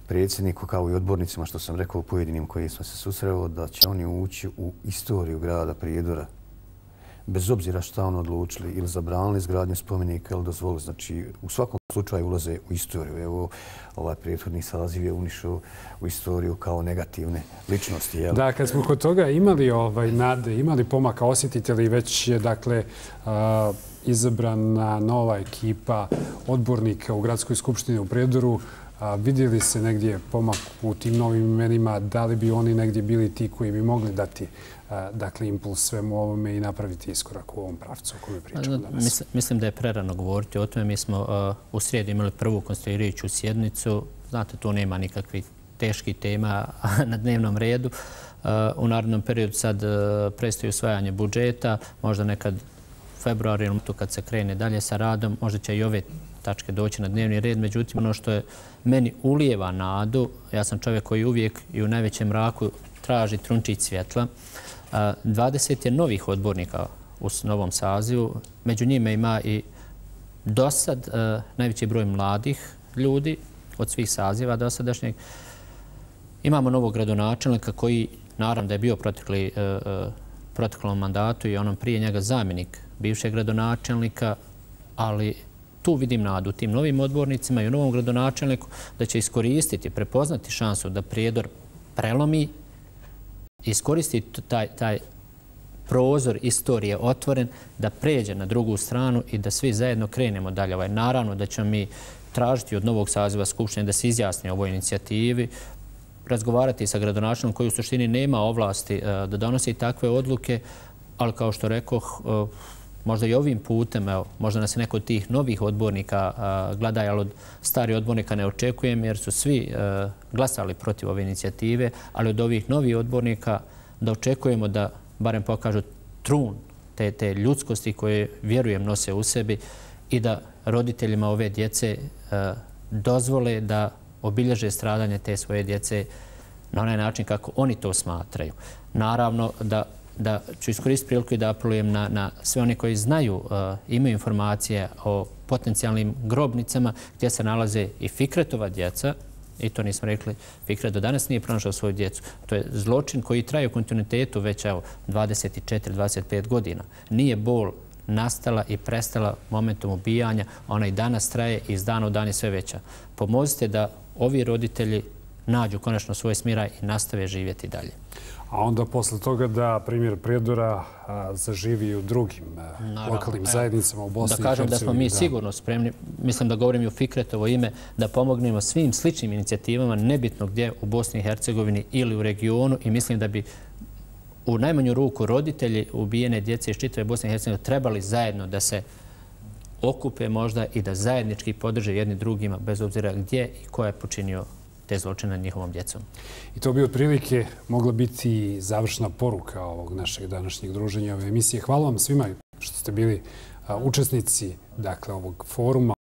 Speaker 2: predsjedniku kao i odbornicima što sam rekao u pojedinim koji smo se susreo, da će oni ući u istoriju grada Prijedora bez obzira šta on odlučili ili zabranili izgradnju spomenika ili dozvolili. Znači, u svakom slučaju ulaze u istoriju. Evo, ovaj prethodni saziv je unišao u istoriju kao negativne ličnosti. Jel?
Speaker 1: Da, kad smo kod toga imali ovaj, nade, imali pomaka, osjetite li već je, dakle, uh, izabrana nova ekipa odbornika u Gradskoj skupštini u Prijedoru. A, vidjeli se negdje pomak u tim novim imenima? Da li bi oni negdje bili ti koji bi mogli dati a, dakle, impuls svemu ovome i napraviti iskorak u ovom pravcu o kome pričamo danas?
Speaker 4: Mislim, mislim da je prerano govoriti o tome. Mi smo uh, u srijedu imali prvu konstituirajuću sjednicu. Znate, tu nema nikakvih teških tema na dnevnom redu. Uh, u narednom periodu sad uh, predstoji usvajanje budžeta, možda nekad februar ili tu kad se krene dalje sa radom, možda će i ove tačke doći na dnevni red. Međutim, ono što je meni ulijeva nadu, ja sam čovjek koji uvijek i u najvećem mraku traži trunčić svjetla. dvadeset je novih odbornika u novom sazivu. Među njima ima i dosad najveći broj mladih ljudi od svih saziva dosadašnjeg. Imamo novog gradonačelnika koji, naravno da je bio protekli, proteklom mandatu i onom prije njega zamjenik bivšeg gradonačelnika, ali tu vidim nadu tim novim odbornicima i u novom gradonačelniku da će iskoristiti, prepoznati šansu da Prijedor prelomi, iskoristiti taj, taj prozor istorije otvoren, da pređe na drugu stranu i da svi zajedno krenemo dalje. Ovaj, naravno da ćemo mi tražiti od novog saziva Skupštine da se izjasni o ovoj inicijativi, razgovarati sa gradonačelnikom koji u suštini nema ovlasti da donosi takve odluke, ali kao što rekoh, možda i ovim putem, evo, možda nas neko od tih novih odbornika gleda, ali od starih odbornika ne očekujem jer su svi glasali protiv ove inicijative, ali od ovih novih odbornika da očekujemo da barem pokažu trun te, te ljudskosti koje, vjerujem, nose u sebi i da roditeljima ove djece dozvole da obilježe stradanje te svoje djece na onaj način kako oni to smatraju. Naravno da da ću iskoristiti priliku i da apelujem na, na sve one koji znaju, uh, imaju informacije o potencijalnim grobnicama gdje se nalaze i Fikretova djeca, i to nismo rekli, Fikret do danas nije pronašao svoju djecu. To je zločin koji traje u kontinuitetu već evo, dvadeset četiri dvadeset pet godina. Nije bol nastala i prestala momentom ubijanja, ona i danas traje i iz dana u dan je sve veća. Pomozite da ovi roditelji nađu konačno svoj smiraj i nastave živjeti dalje.
Speaker 1: A onda posle toga da primjer Prijedora zaživi i u drugim Naravno, lokalnim zajednicama u Bosni i Hercegovini.
Speaker 4: Da kažem da smo mi sigurno spremni, mislim da govorim i u Fikretovo ime, da pomognemo svim sličnim inicijativama, nebitno gdje u Bosni i Hercegovini ili u regionu, i mislim da bi u najmanju ruku roditelji ubijene djece iz čitave Bosne i Hercegovine trebali zajedno da se okupe možda i da zajednički podrže jedni drugima bez obzira gdje i ko je počinio te zločine nad njihovom djecom.
Speaker 1: I to bi otprilike mogla biti završna poruka ovog našeg današnjeg druženja ove emisije. Hvala vam svima što ste bili učesnici dakle, ovog foruma.